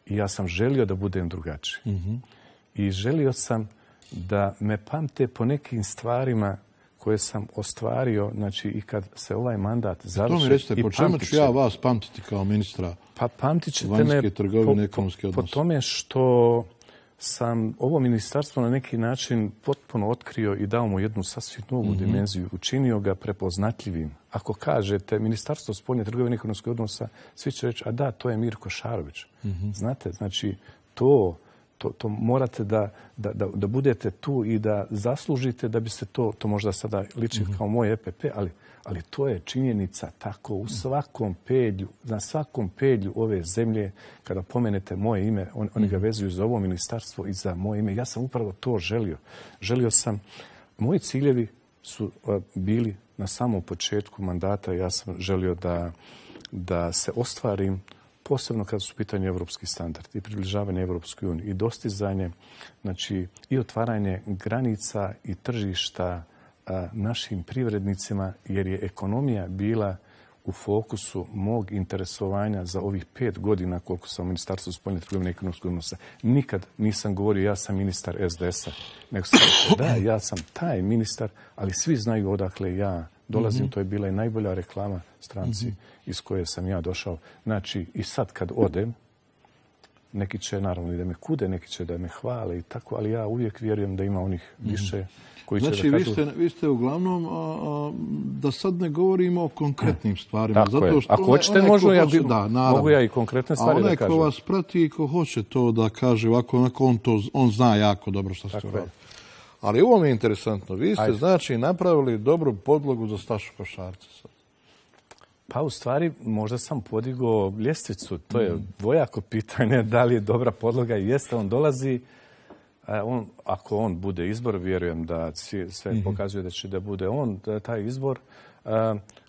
I ja sam želio da budem drugačiji. I želio sam da me pamte po nekim stvarima koje sam ostvario, znači i kad se ovaj mandat završi. To mi recite, po čemu ću ja vas pamtiti kao ministra vanjske trgovine, ekonomske odnose? Po tome što sam ovo ministarstvo na neki način potpuno otkrio i dao mu jednu sasvim novu dimenziju, učinio ga prepoznatljivim. Ako kažete Ministarstvo spoljne trgovine i ekonomskih odnosa, svi će reći, a da, to je Mirko Šarović. Znate, znači to morate da budete tu i da zaslužite da biste to možda sada liči kao moj EPP, ali to je činjenica tako u svakom pedlju, na svakom pedlju ove zemlje, kada pomenete moje ime, oni ga vezuju za ovo ministarstvo i za moje ime. Ja sam upravo to želio. Želio sam, moji ciljevi su bili na samom početku mandata, ja sam želio da se ostvarim posebno kada su u pitanju evropski standard i približavanje Evropskoj uniji i dostizanje, znači i otvaranje granica i tržišta našim privrednicima, jer je ekonomija bila u fokusu mog interesovanja za ovih 5 godina koliko sam u Ministarstvu spoljne trgovine i ekonomskih odnosa. Nikad nisam govorio ja sam ministar SDS-a, nego sam rekao da, ja sam taj ministar, ali svi znaju odakle ja dolazim. To je bila i najbolja reklama stranci iz koje sam ja došao. Znači, i sad kad odem, neki će naravno i da me kude, neki će da me hvale i tako, ali ja uvijek vjerujem da ima onih više koji će da kažu... Znači, vi ste uglavnom, da sad ne govorimo o konkretnim stvarima. Tako je. Ako hoćete, mogu ja i konkretne stvari da kažem. A onaj ko vas prati i ko hoće to da kaže ovako, on zna jako dobro što ste uradili. Ali ovo mi je interesantno. Vi ste, znači, napravili dobru podlogu za Stašu Košarca. Pa u stvari možda sam podigao ljestvicu. To je dvojako pitanje da li je dobra podloga i jeste. On dolazi, ako on bude izbor, vjerujem da sve pokazuje da će da bude on taj izbor,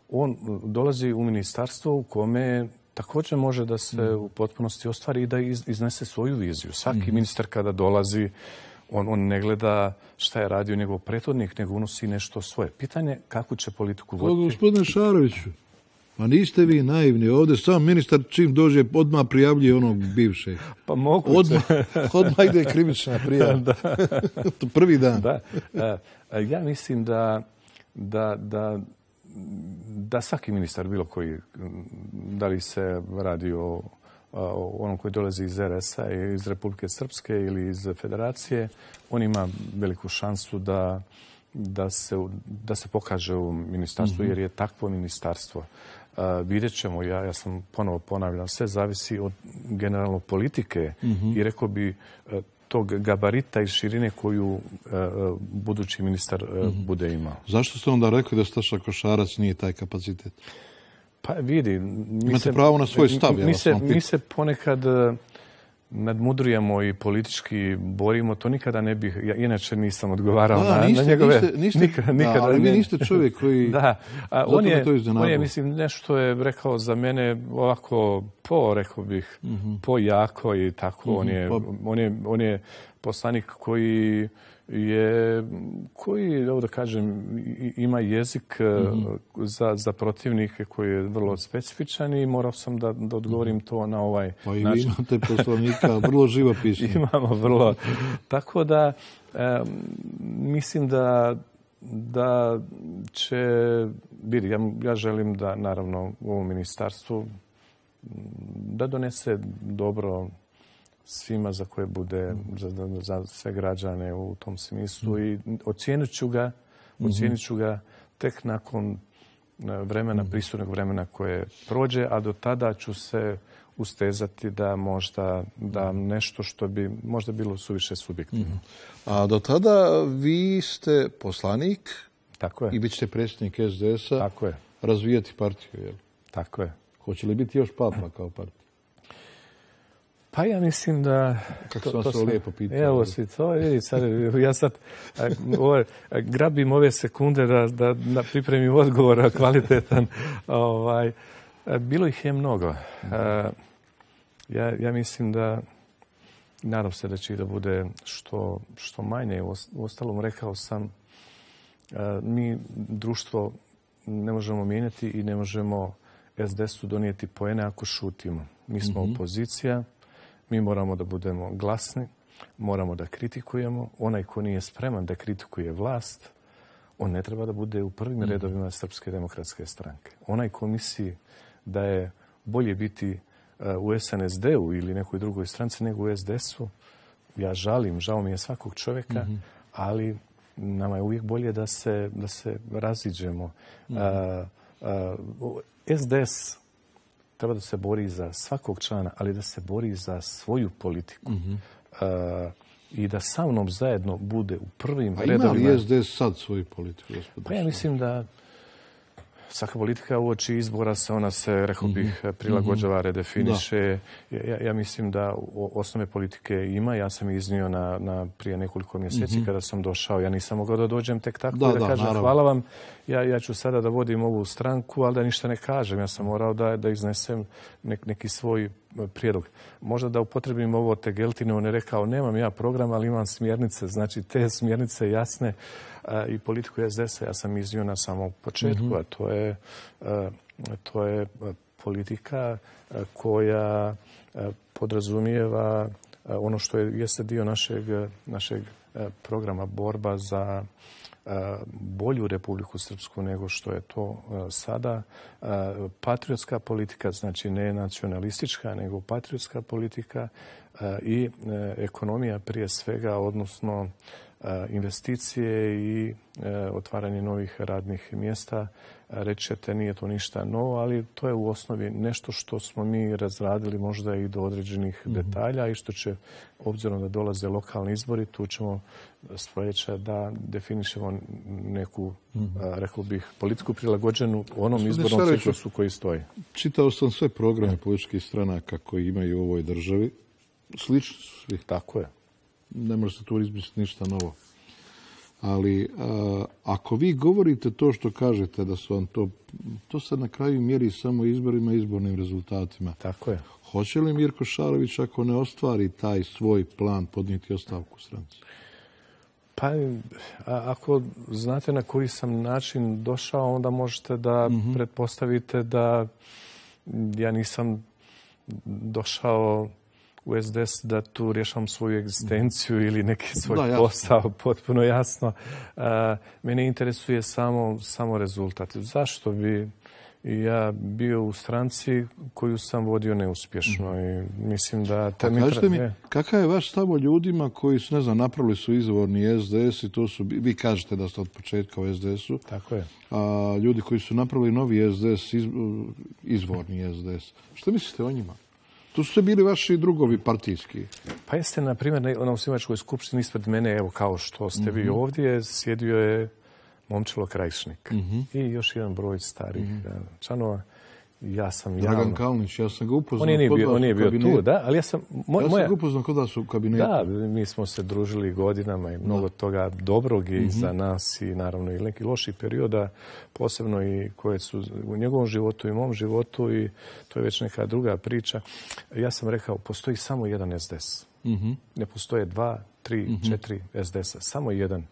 on dolazi u ministarstvo u kome također može da se u potpunosti ostvari i da iznese svoju viziju. Svaki ministar kada dolazi, on ne gleda šta je radio njegov prethodnik, nego unosi nešto svoje. Pitanje kakvu će politiku voditi. Gospodine Šaroviću, ma niste vi naivni. Ovdje sam ministar čim dođe odmah prijavljuje onog bivšeg. Pa moguće. Odmah ide krivična prijava. To prvi dan. Da. Ja mislim da svaki ministar, bilo koji, da li se radi o onom koji dolazi iz RS-a, iz Republike Srpske ili iz Federacije, on ima veliku šansu da se pokaže u ministarstvu, jer je takvo ministarstvo. Vidjet ćemo, ja sam ponovo ponavljam, sve zavisi od generalno politike i rekao bi tog gabarita i širine koju budući ministar bude imao. Zašto ste onda rekli da Staša Košarac nije taj kapacitet? Pa vidi, imate pravo na svoj stav. Mi se ponekad nadmudrujemo i politički borimo. To nikada ne bih, ja inače nisam odgovarao na njegove... Nikada, ali vi niste čovjek koji... Da, on je, mislim, nešto je rekao za mene ovako rekao bih, jako i tako. On je poslanik koji da kažem, ima jezik za protivnike koji je vrlo specifičan i morao sam da odgovorim to na ovaj način. Pa i vi imate poslovnika vrlo živopisno. Imamo vrlo. Tako da mislim da će biti. Ja želim da, naravno, u ovom ministarstvu da donese dobro svima za koje bude, za sve građane u tom smislu i ocijenit ću ga tek nakon vremena, prisutnog vremena koje prođe, a do tada ću se ustezati da možda nešto što bi možda bilo suviše subjektivno. A do tada vi ste poslanik. Tako je. I bit ćete predsjednik SDS-a. Tako je. Razvijati partiju, jel? Tako je. Hoće li biti još papa kao partija? Pa ja mislim da... Kako sam vas lijepo pitao. Evo si to, vidi sad, ja sad grabim ove sekunde da pripremim odgovor kvalitetan. Bilo ih je mnogo. Ja mislim da, nadam se da će da bude što manje. Uostalom, rekao sam, mi društvo ne možemo mijenjati i ne možemo SDS-u donijeti poene ako šutimo. Mi smo opozicija. Mi moramo da budemo glasni, moramo da kritikujemo. Onaj ko nije spreman da kritikuje vlast, on ne treba da bude u prvim redovima Srpske demokratske stranke. Onaj ko misli da je bolje biti u SNSD-u ili nekoj drugoj stranci nego u SDS-u, ja žao mi je svakog čovjeka, ali nama je uvijek bolje da se raziđemo. SDS treba da se bori za svakog člana, ali da se bori za svoju politiku. I da sa mnom zajedno bude u prvim redovima. Ima li SDS sad svoju politiku? Pa ja mislim da svaka politika uoči izbora ona se, rekao bih, prilagođava, redefiniše. Ja mislim da osnove politike ima. Ja sam iznio prije nekoliko mjeseci kada sam došao. Ja nisam mogao da dođem tek tako da kažem naravno. Hvala vam. Ja ću sada da vodim ovu stranku, ali da ništa ne kažem. Ja sam morao da iznesem neki svoj prijedlog. Možda da upotrebim ovo Tegeltine, on je rekao nemam ja program, ali imam smjernice. Znači te smjernice jasne i politiku SDS-a ja sam iznio na samom početku, a to je politika koja podrazumijeva ono što jeste dio našeg programa borba za bolju Republiku Srpsku nego što je to sada. Patriotska politika, znači ne nacionalistička, nego patriotska politika i ekonomija prije svega, odnosno investicije i otvaranje novih radnih mjesta. Reći ćete, nije to ništa novo, ali to je u osnovi nešto što smo mi razradili možda i do određenih detalja i što će, obzirom da dolaze lokalni izbori, tu ćemo sljedeće da definišemo neku, rekao bih, politiku prilagođenu onom izbornom ciklusu koji stoji. Čitao sam sve programe političkih stranaka koji imaju u ovoj državi. Slični su svi. Tako je. Ne može se tu izmisliti ništa novo. Ali ako vi govorite to što kažete da su vam to se na kraju mjeri samo izborima i izbornim rezultatima. Tako je. Hoće li Mirko Šarović, ako ne ostvari taj svoj plan, podnijeti ostavku stranci? Pa, ako znate na koji sam način došao, onda možete da pretpostavite da ja nisam došao u SDS da tu rješavam svoju egzistenciju ili neki svoj posao, potpuno jasno. Mene interesuje samo rezultat. Zašto bi ja bio u stranci koju sam vodio neuspješno i mislim da... Kažete mi, kakav je vaš stav o ljudima koji su, ne znam, napravili su izvorni SDS i to su, vi kažete da ste od početka u SDS-u. Tako je. A ljudi koji su napravili novi SDS, izvorni SDS. Što mislite o njima? Tu su bili vaši drugovi partijski. Pa jeste, na primjer, na osnivačkoj skupštini ispred mene, evo kao što ste vi ovdje, sjedio je Momčilo Krajišnik i još jedan broj starih članova. Ja sam Dragan Kalnić, ja sam ga upoznao on nije bio tu, da, ali ja sam ga upoznao kod vas u kabinetu. Da, mi smo se družili godinama i mnogo toga dobrog i za nas i naravno i nekih loših perioda, posebno i koje su u njegovom životu i mom životu i to je već neka druga priča. Ja sam rekao, postoji samo jedan SDS. Ne postoje 2, 3, 4 SDS-a, samo jedan.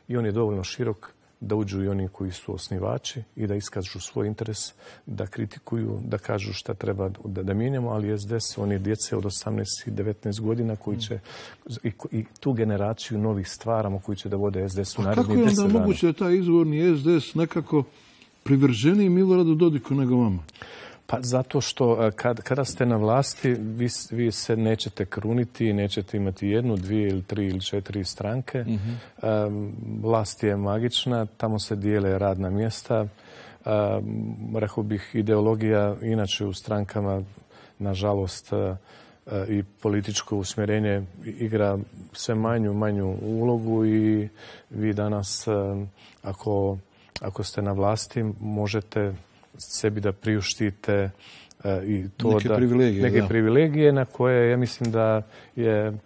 I on je dovoljno širok da uđu i oni koji su osnivači i da iskažu svoj interes, da kritikuju, da kažu šta treba da mijenjamo, ali SDS, oni djece od 18 i 19 godina koji će i tu generaciju novih stvaramo koji će da vode SDS u narednih 10 dana. Kako je onda moguće da taj izvorni SDS nekako privrženiji Miloradu Dodiku nego vama? Pa zato što kada ste na vlasti, vi se nećete kruniti, nećete imati 1, 2 ili 3 ili 4 stranke. Vlast je magična, tamo se dijele radna mjesta. Rekao bih, ideologija inače u strankama, nažalost, i političko usmjerenje igra sve manju ulogu i vi danas, ako ste na vlasti, možete sebi da priuštite i to neke privilegije na koje ja mislim da je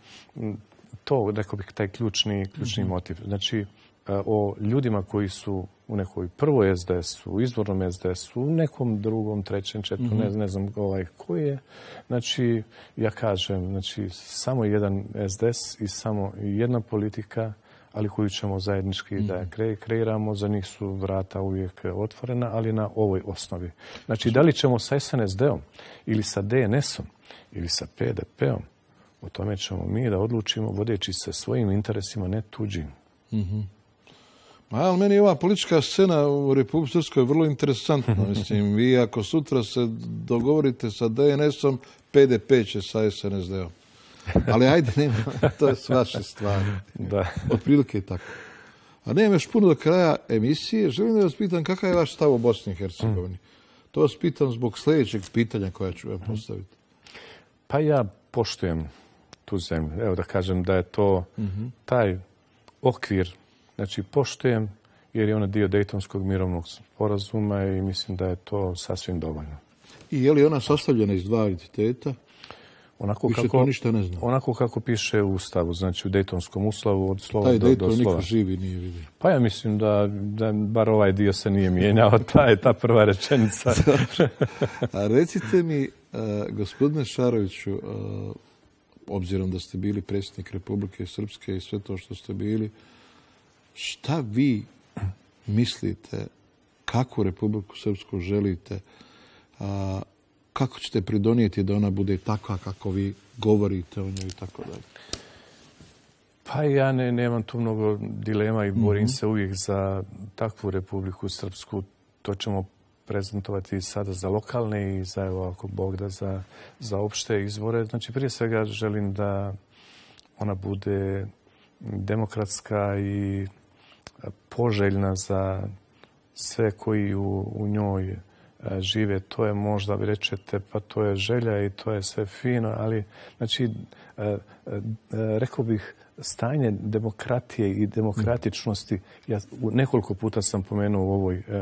to, rekao bih, taj ključni motiv. Znači, o ljudima koji su u nekoj prvoj SDS-u, u izvornom SDS-u, u nekom drugom, trećem, četvrtom, ne znam koji je. Znači, ja kažem, znači, samo jedan SDS i samo jedna politika, ali koju ćemo zajednički da kreiramo. Za njih su vrata uvijek otvorena, ali na ovoj osnovi. Znači, da li ćemo sa SNSD-om ili sa DNS-om ili sa PDP-om, o tome ćemo mi da odlučimo vodeći se svojim interesima, ne tuđim. Ali meni ova politička scena u Republici Srpskoj je vrlo interesantna. Mislim, vi ako sutra se dogovorite sa DNS-om, PDP će sa SNSD-om. Ali ajde, nema, to je s vaše stvari. Da. Otprilike je tako. A nemam još puno do kraja emisije. Želim da vas pitam kakav je vaš stav o Bosni i Hercegovini. To vas pitam zbog sljedećeg pitanja koja ću vam postaviti. Pa ja poštujem tu zemlju. Evo da kažem da je to taj okvir. Znači, poštujem jer je ona dio Dejtonskog mirovnog sporazuma i mislim da je to sasvim dovoljno. I je li ona sastavljena iz 2 entiteta? Onako kako piše u Ustavu, znači u Dejtonskom ustavu od slova do slova. Taj Dejton niko živi nije vidio. Pa ja mislim da bar ovaj dio se nije mijenjao, ta prva rečenica. A recite mi, gospodine Šaroviću, obzirom da ste bili predsjednik Republike Srpske i sve to što ste bili, šta vi mislite, kakvu Republiku Srpsku želite, kako ćete pridonijeti da ona bude takva kako vi govorite o njoj i tako dalje? Pa ja nemam tu mnogo dilema i borim se uvijek za takvu Republiku Srpsku. To ćemo prezentovati sada za lokalne i za, evo, ako Bog da, za opšte izvore. Znači, prije svega želim da ona bude demokratska i poželjna za sve koji u njoj žive. To je možda, vi rečete, pa to je želja i to je sve fino, ali znači, rekao bih, stanje demokratije i demokratičnosti, ja nekoliko puta sam pomenuo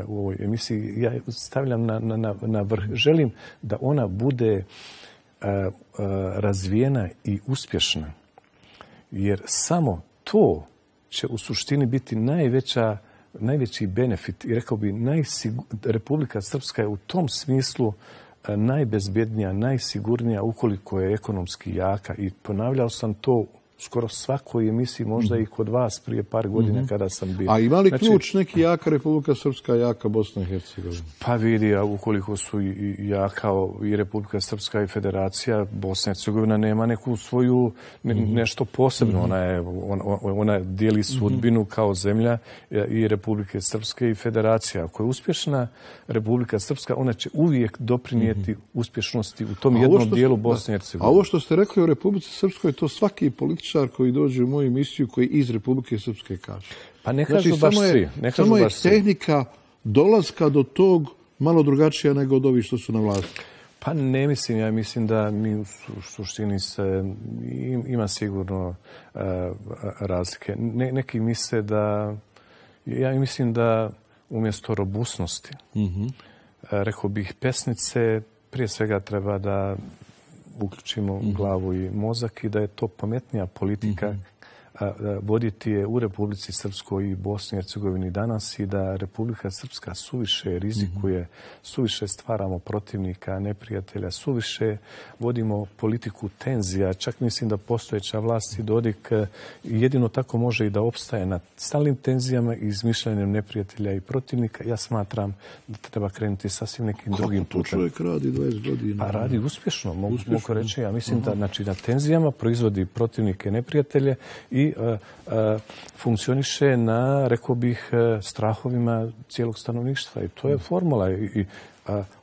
u ovoj emisiji, ja stavljam na vrh. Želim da ona bude razvijena i uspješna, jer samo to će u suštini biti najveći benefit i rekao bi Republika Srpska je u tom smislu najbezbjednija, najsigurnija ukoliko je ekonomski jaka i ponavljao sam to skoro svakoj emisiji, možda i kod vas prije par godina kada sam bio. A ima li ključ neki jaka Republika Srpska, jaka Bosna i Hercegovina? Pa vidi, ukoliko su jaka i Republika Srpska i Federacija, Bosna i Hercegovina nema neku svoju nešto posebno. Ona dijeli sudbinu kao zemlja i Republike Srpske i Federacija. Ako je uspješna Republika Srpska, ona će uvijek doprinijeti uspješnosti u tom jednom dijelu Bosne i Hercegovine. A ovo što ste rekli o Republici Srpskoj, to svaki političar koji dođe u moju emisiju koji iz Republike Srpske kaže. Pa ne kažu baš svi. Samo je tehnika dolaska do tog malo drugačija nego od ovih što su na vlasti. Pa ne mislim. Ja mislim da mi u suštini ima sigurno razlike. Neki misle da... Ja mislim da umjesto robusnosti, rekao bih, pesnice prije svega treba da uključimo glavu i mozak i da je to pametnija politika voditi je u Republici Srpskoj i Bosni i Hercegovini danas i da Republika Srpska suviše rizikuje, suviše stvaramo protivnika, neprijatelja, suviše vodimo politiku tenzija. Čak mislim da postojeća vlast i Dodik jedino tako može i da opstaje na stalnim tenzijama i izmišljanjem neprijatelja i protivnika. Ja smatram da treba krenuti sasvim nekim drugim putem. Kako to čovjek radi 20 godina? Pa radi uspješno, mogu reći. Ja mislim da na tenzijama proizvodi protivnike, neprijatelje i funkcioniše na, rekao bih, strahovima cijelog stanovništva. I to je formula. I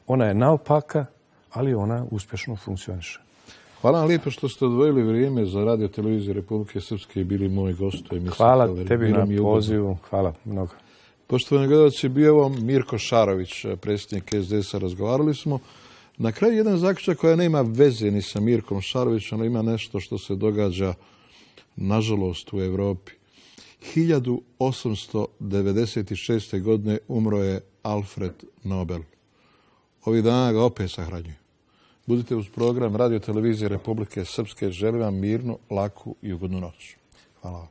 ona je naopaka, ali ona uspješno funkcioniše. Hvala vam lijepo što ste odvojili vrijeme za Radio televiziju Republike Srpske i bili moj gost. Hvala tebi na pozivu. Hvala mnogo. Poštovani gledalci, bio vam Mirko Šarović, predsjednik SDS-a. Razgovarali smo. Na kraju jedan zaključak koja nema veze ni sa Mirkom Šarovićem, ali ima nešto što se događa nažalost u Europi. 1896. godine umro je Alfred Nobel. Ovih dana ga opet sahranjuju. Budite uz program Radio televizije Republike Srpske. Želim vam mirnu, laku i ugodnu noć. Hvala vam.